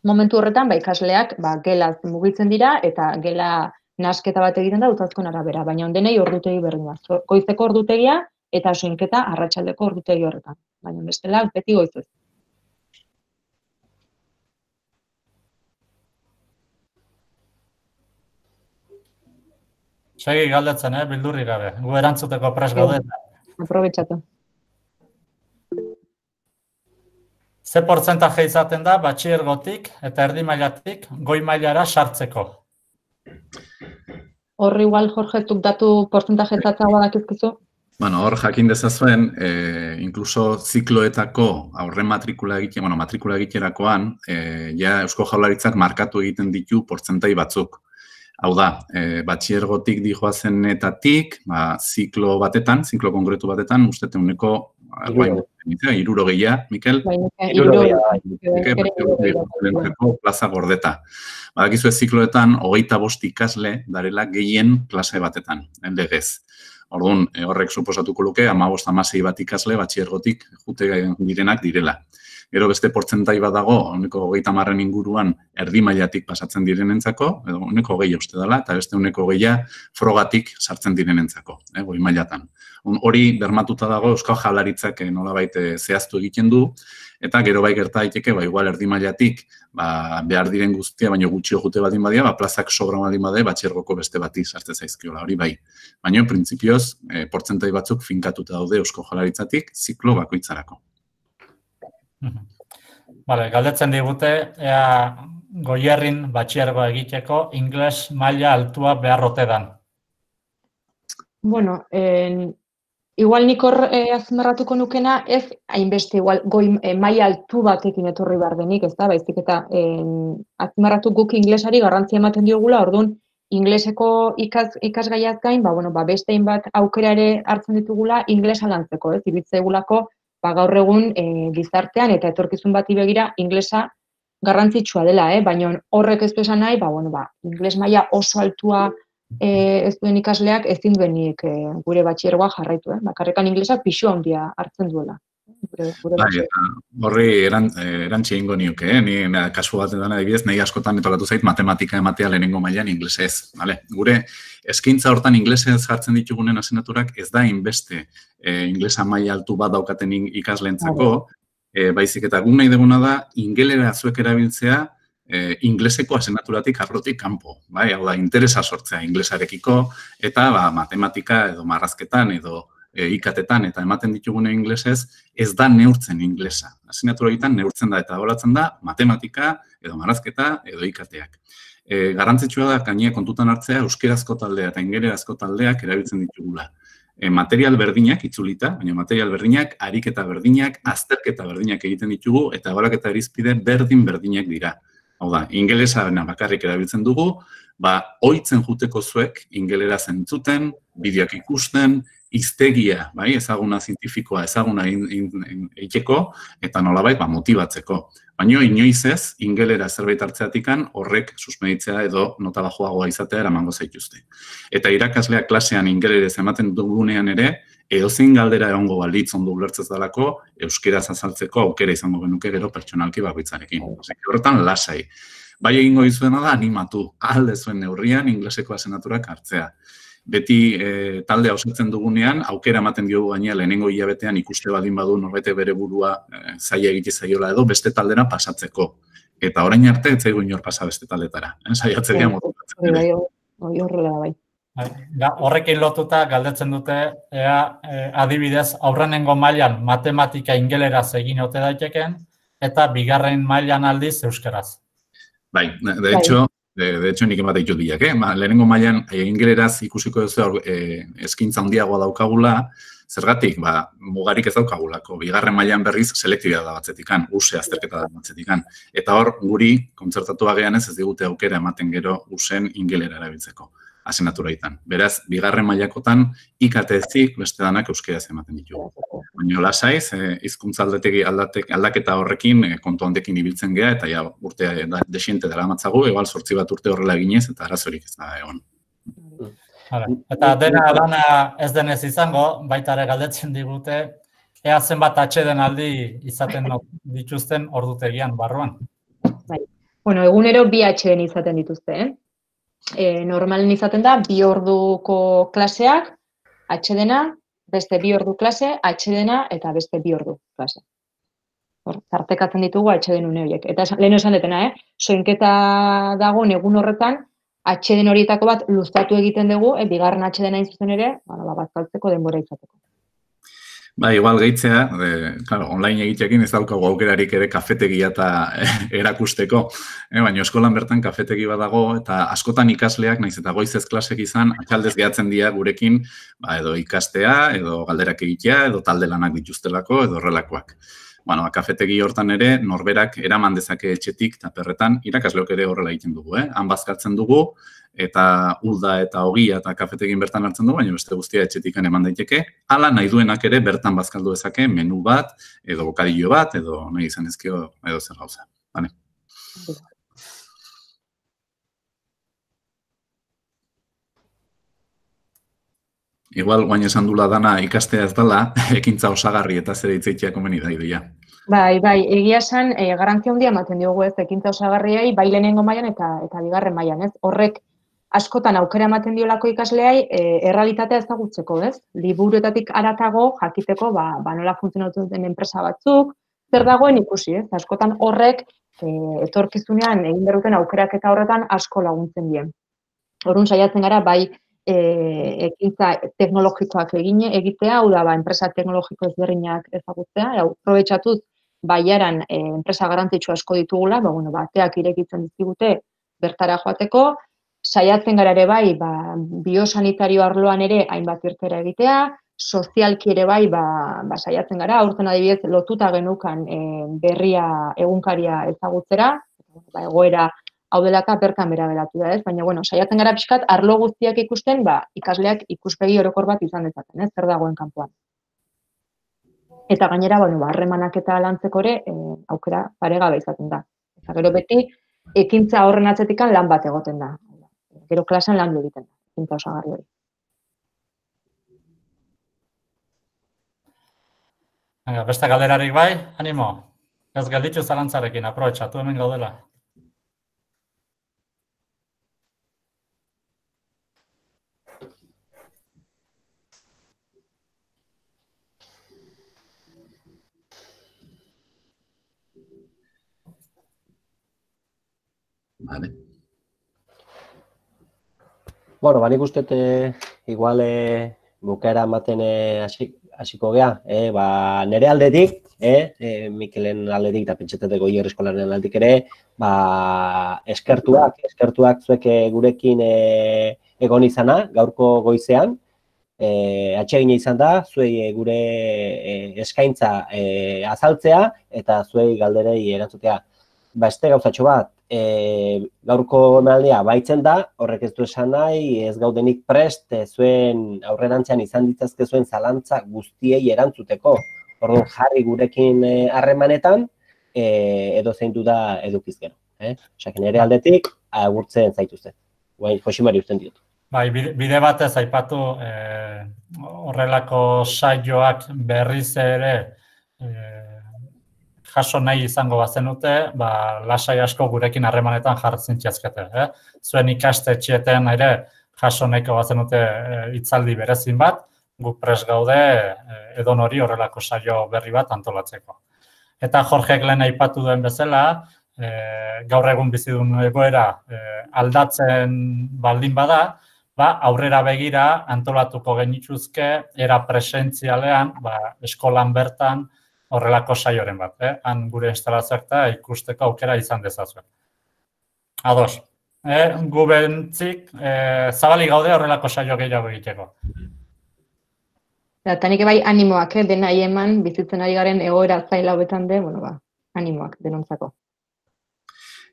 momentu horretan, ba, ikasleak ba, gelaz mugitzen dira eta gela nasketa bat egiten da hautazkoen arabera, baina denei ordutegi berdina. Goizeko ordutegia, eta soinketa arratsaldeko ordutegi horretan. Baina bestela, beti goizez. Segi galdetzen, eh, bildurri gabe. Gu erantzuteko pres gaude. Aprobetxatu. Ze portzentaje izaten da batxilergotik eta erdi mailatik goi mailara sartzeko? Hor igual, Jorge, tuk datu portzentaje zatzagoa dakizkizu? Bueno, hor jakin dezazuen, eh, inkluso zikloetako aurre matrikula egite, bueno, matrikula egiterakoan, eh, ja Eusko Jaurlaritzak markatu egiten ditu portzentai batzuk. Hau da, eh, batxilergotik dijoazenetatik, ba, ziklo batetan, ziklo konkretu batetan, uste uneko hirurogeia, Mikel? Hirurogeia, plaza gordeta. Badakizu ez zikloetan, hogeita bost ikasle darela gehien klase batetan, legez. Orduan, horrek suposatuko luke, hamabost hamasei bat ikasle batxilergotik jute direnak direla. Gero beste portzentai bat dago, uneko hogeita hamarren inguruan erdi mailatik pasatzen direnentzako, edo uneko hogeia uste dela, eta beste uneko hogeia frogatik sartzen direnentzako, goi mailatan. Hori bermatuta dago Eusko Jaurlaritzak nolabait zehaztu egiten du, eta gero bai gerta daiteke, ba, igual erdi mailatik behar diren guztia, baina gutxio jute baldin badia, ba, plazak sobra baldin badia, batxilergoko beste bati sartzen zaizkiola, hori bai. Baina, printzipioz, portzentai batzuk finkatuta daude Eusko Jaurlaritzatik ziklo bakoitzarako. Vale, galdetzen digute, ea Goierrin batxilergoa egiteko ingles maila altua beharrote dan. Bueno, en, igual nik hor eh, azmarratuko nukena, ez hainbeste igual goi eh, maila altu batekin etorri behar denik, ez da, baizik eta eh, azmarratu guk inglesari garrantzia ematen diogula, orduan ingleseko ikas, ikasgaiaz gain, ba, bueno, ba, beste hainbat aukera ere hartzen ditugula inglesa lantzeko, ez, ibitzaigulako ba, gaur egun e, gizartean eta etorkizun bati begira inglesa garrantzitsua dela, eh? Baina horrek ez du esan nahi, ba, bueno, ba, ingles maila oso altua e, ez duen ikasleak ezin duenik e, gure batxilergoa jarraitu, eh? Bakarrekan inglesa pisu handia hartzen duela. Gure, gure bai, horri erantzi egingo nioke, eh? Ni kasu batetan adibidez, nahi askotan etokatu zait matematika ematea lehenengo mailan inglesez. Vale? Gure eskaintza hortan inglesez jartzen ditugunen asenaturak ez da inbeste e, inglesa maila altu bat daukaten ikaslentzako, e, baizik eta guk nahi duguna da ingelera zuek erabiltzea e, ingleseko asenaturatik arlotik kanpo. Bai? Hau da, interesa sortzea inglesarekiko eta ba, matematika edo marrazketan edo e, ikatetan eta ematen ditugune inglesez ez da neurtzen inglesa. Asenatura egiten neurtzen da eta horatzen da matematika edo marrazketa edo ikateak. E, garrantzitsua da gainera kontutan hartzea euskerazko taldea eta ingelerazko taldeak erabiltzen ditugula. E, material berdinak itzulita, baina material berdinak, ariketa berdinak, azterketa berdinak egiten ditugu eta ebaluaketa irizpide berdin berdinak dira. Hau da, ingelesa bakarrik erabiltzen dugu, ba, ohitzen juteko zuek ingeleraz entzuten, bideoak ikusten, hiztegia, bai, ezaguna zientifikoa, ezaguna egiteko eta nolabait ba, motibatzeko. Baina inoiz ez, ingelera zerbait hartzeatikan horrek susmeditzea edo nota bajoagoa izatea eramango zaituzte. Eta irakasleak klasean ingelerez ematen dugunean ere, edozein galdera egongo balitz ondo ulertzez dalako, euskeraz azaltzeko aukera izango genuke gero pertsonalki bakoitzarekin. Horretan lasai. Bai egingo dizuena da animatu, alde zuen neurrian ingleseko asenaturak hartzea. Beti e, taldea osatzen dugunean, aukera ematen diogu gainea lehenengo hilabetean ikuste baldin badu norbete bere burua e, zaila egite zaiola edo beste taldera pasatzeko. Eta orain arte ez zaigu inor pasa beste taldetara. Eh? Saiatzen dira motibatzen. Bai, bai, horrela bai. Horrekin lotuta galdetzen dute, ea e, adibidez, aurrenengo mailan matematika ingeleraz egin ote daiteken, eta bigarren mailan aldiz euskaraz. Bai, de hecho, De, de hecho, nik emate ditut bilak, eh? Lehenengo mailan ingeleraz ikusiko duzu eh, eskintza handiagoa daukagula, zergatik, ba, mugarik ez daukagulako. Bigarren mailan berriz selektibitatea da batzetikan, use azterketa da batzetikan. Eta hor, guri, kontzertatu bagean ez ez digute aukera ematen gero usen ingelera erabiltzeko, asenaturaitan. Beraz, bigarren mailakotan ikatezik beste danak euskeraz ematen ditugu. Baina lasaiz, eh, hizkuntza aldetegi aldaketa horrekin eh, kontu handekin ibiltzen gea eta ja urte desiente dela matzagu, egal sortzi bat urte horrela eginez eta arazorik ez da egon. Eta dena dana ez denez izango, baita ere galdetzen digute, ea zenbat atxeden aldi izaten dituzten ordutegian barruan. Bai. Bueno, egunero bi atxeden izaten dituzte, eh? E, normalen izaten da, bi orduko klaseak, atxedena, beste bi ordu klase, atxedena eta beste bi ordu klase. Hor, tartekatzen ditugu atxeden une horiek. Eta lehen esan detena, eh? Soinketa dagoen egun horretan, atxeden horietako bat luztatu egiten dugu, e, bigarren atxeden hain zuzen ere, ba, bazkaltzeko denbora izateko. Ba, igual gehitzea, de, claro, online egitekin ez daukagu aukerarik ere kafetegia eta erakusteko, eh, baina eskolan bertan kafetegi badago eta askotan ikasleak, naiz eta goizez klasek izan, atxaldez gehatzen dira gurekin, ba, edo ikastea, edo galderak egitea, edo talde lanak dituztelako, edo horrelakoak. Bueno, kafetegi hortan ere, norberak eraman dezake etxetik eta perretan, irakasleok ere horrela egiten dugu, eh? Han bazkaltzen dugu, eta ulda eta ogia eta kafetegin bertan hartzen du, baina beste guztia etxetikan eman daiteke. Hala nahi duenak ere bertan bazkaldu dezake menu bat, edo bokadillo bat, edo nahi izan ezkio, edo zer gauza. Bale. Igual, guain esan dula dana ikastea ez dela, ekintza osagarri eta zer eitzeitea komeni da ideia. Bai, bai, egia esan, e, garantzia handia ematen diogu ez, ekintza osagarriai, bai lehenengo mailan eta eta bigarren mailan, ez? Horrek askotan aukera ematen diolako ikasleai e, errealitatea ezagutzeko, ez? Liburuetatik haratago jakiteko, ba, ba nola funtzionatu den enpresa batzuk, zer dagoen ikusi, ez? Askotan horrek e, etorkizunean egin berruten aukerak eta horretan asko laguntzen dien. Orrun saiatzen gara, bai, e, ekintza teknologikoak egin egitea, hau da, ba, enpresa teknologiko ezberdinak ezagutzea, hau aprobetxatuz baiaran e, enpresa garrantzitsu asko ditugula, ba, bueno, bateak irekitzen dizkigute bertara joateko, saiatzen gara ere bai, ba, biosanitario arloan ere hainbat irtera egitea, sozialki ere bai, ba, ba, saiatzen gara, aurten adibidez lotuta genukan e, berria egunkaria ezagutzera, ba, egoera hau delaka bertan bera geratu da, ez? Baina, bueno, saiatzen gara pixkat, arlo guztiak ikusten, ba, ikasleak ikuspegi orokor bat izan dezaten, ez? Zer dagoen kanpoan. Eta gainera, bueno, harremanak eta lantzeko ere e, aukera paregabe izaten da. Eta gero beti, ekintza horren atzetikan lan bat egoten da. Gero klasean lan egiten da, ekintza osagarri hori. Beste galderarik bai, animo. Ez gelditu zalantzarekin, aprobetxatu hemen gaudela. Vale. Bueno, ba, nik uste eh, igual eh, bukaera ematen hasiko gea, eh, ba, nire aldetik, eh, eh, Mikelen aldetik eta pentsateteko Goierri eskolaren aldetik ere, ba, eskertuak, eskertuak zuek gurekin eh, egon izana, gaurko goizean, eh, atsegina izan da, zuei gure eh, eskaintza eh, azaltzea eta zuei galderei erantzutea. Ba, este gauzatxo bat, e, gaurko emanaldia baitzen da, horrek ez du esan nahi, ez gaudenik prest, e, zuen aurrerantzean izan ditzazke zuen zalantza guztiei erantzuteko. Orduan jarri gurekin harremanetan, e, edo zeintu da edukiz gero. Eh? Osak, nire aldetik, agurtzen zaituzte. Guain, Josimari usten diot. Bai, bide batez aipatu eh, horrelako saioak berriz ere eh, jaso nahi izango bazenute, ba, lasai asko gurekin harremanetan jartzen txazkete. Eh? Zuen ikastetxeetan ere jaso nahiko bazenute hitzaldi berezin bat, guk prest gaude edon hori horrelako saio berri bat antolatzeko. Eta Jorgek lehen aipatu duen bezala, eh, gaur egun bizi duen egoera eh, aldatzen baldin bada, ba, aurrera begira antolatuko genituzke era presentzialean, ba, eskolan bertan, horrelako saioren bat, eh? Han gure instalazioak eta ikusteko aukera izan dezazuen. Ados, eh? Gu bentzik, eh, zabali gaude horrelako saio gehiago egiteko. Eta nik bai animoak, eh? Dena eman, bizitzen ari garen egoera zaila hobetan de, bueno, ba, animoak denontzako.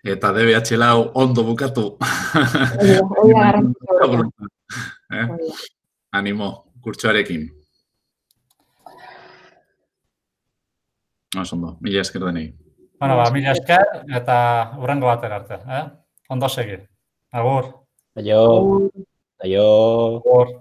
Eta D B H lau ondo bukatu. Hoi da garrantzitsua. Animo, kurtsoarekin. Oso ondo, mila esker denei. Bueno, ba, mila esker eta hurrengo batera arte. Eh? Ondo segi. Agur. Aio. Aio. Agur.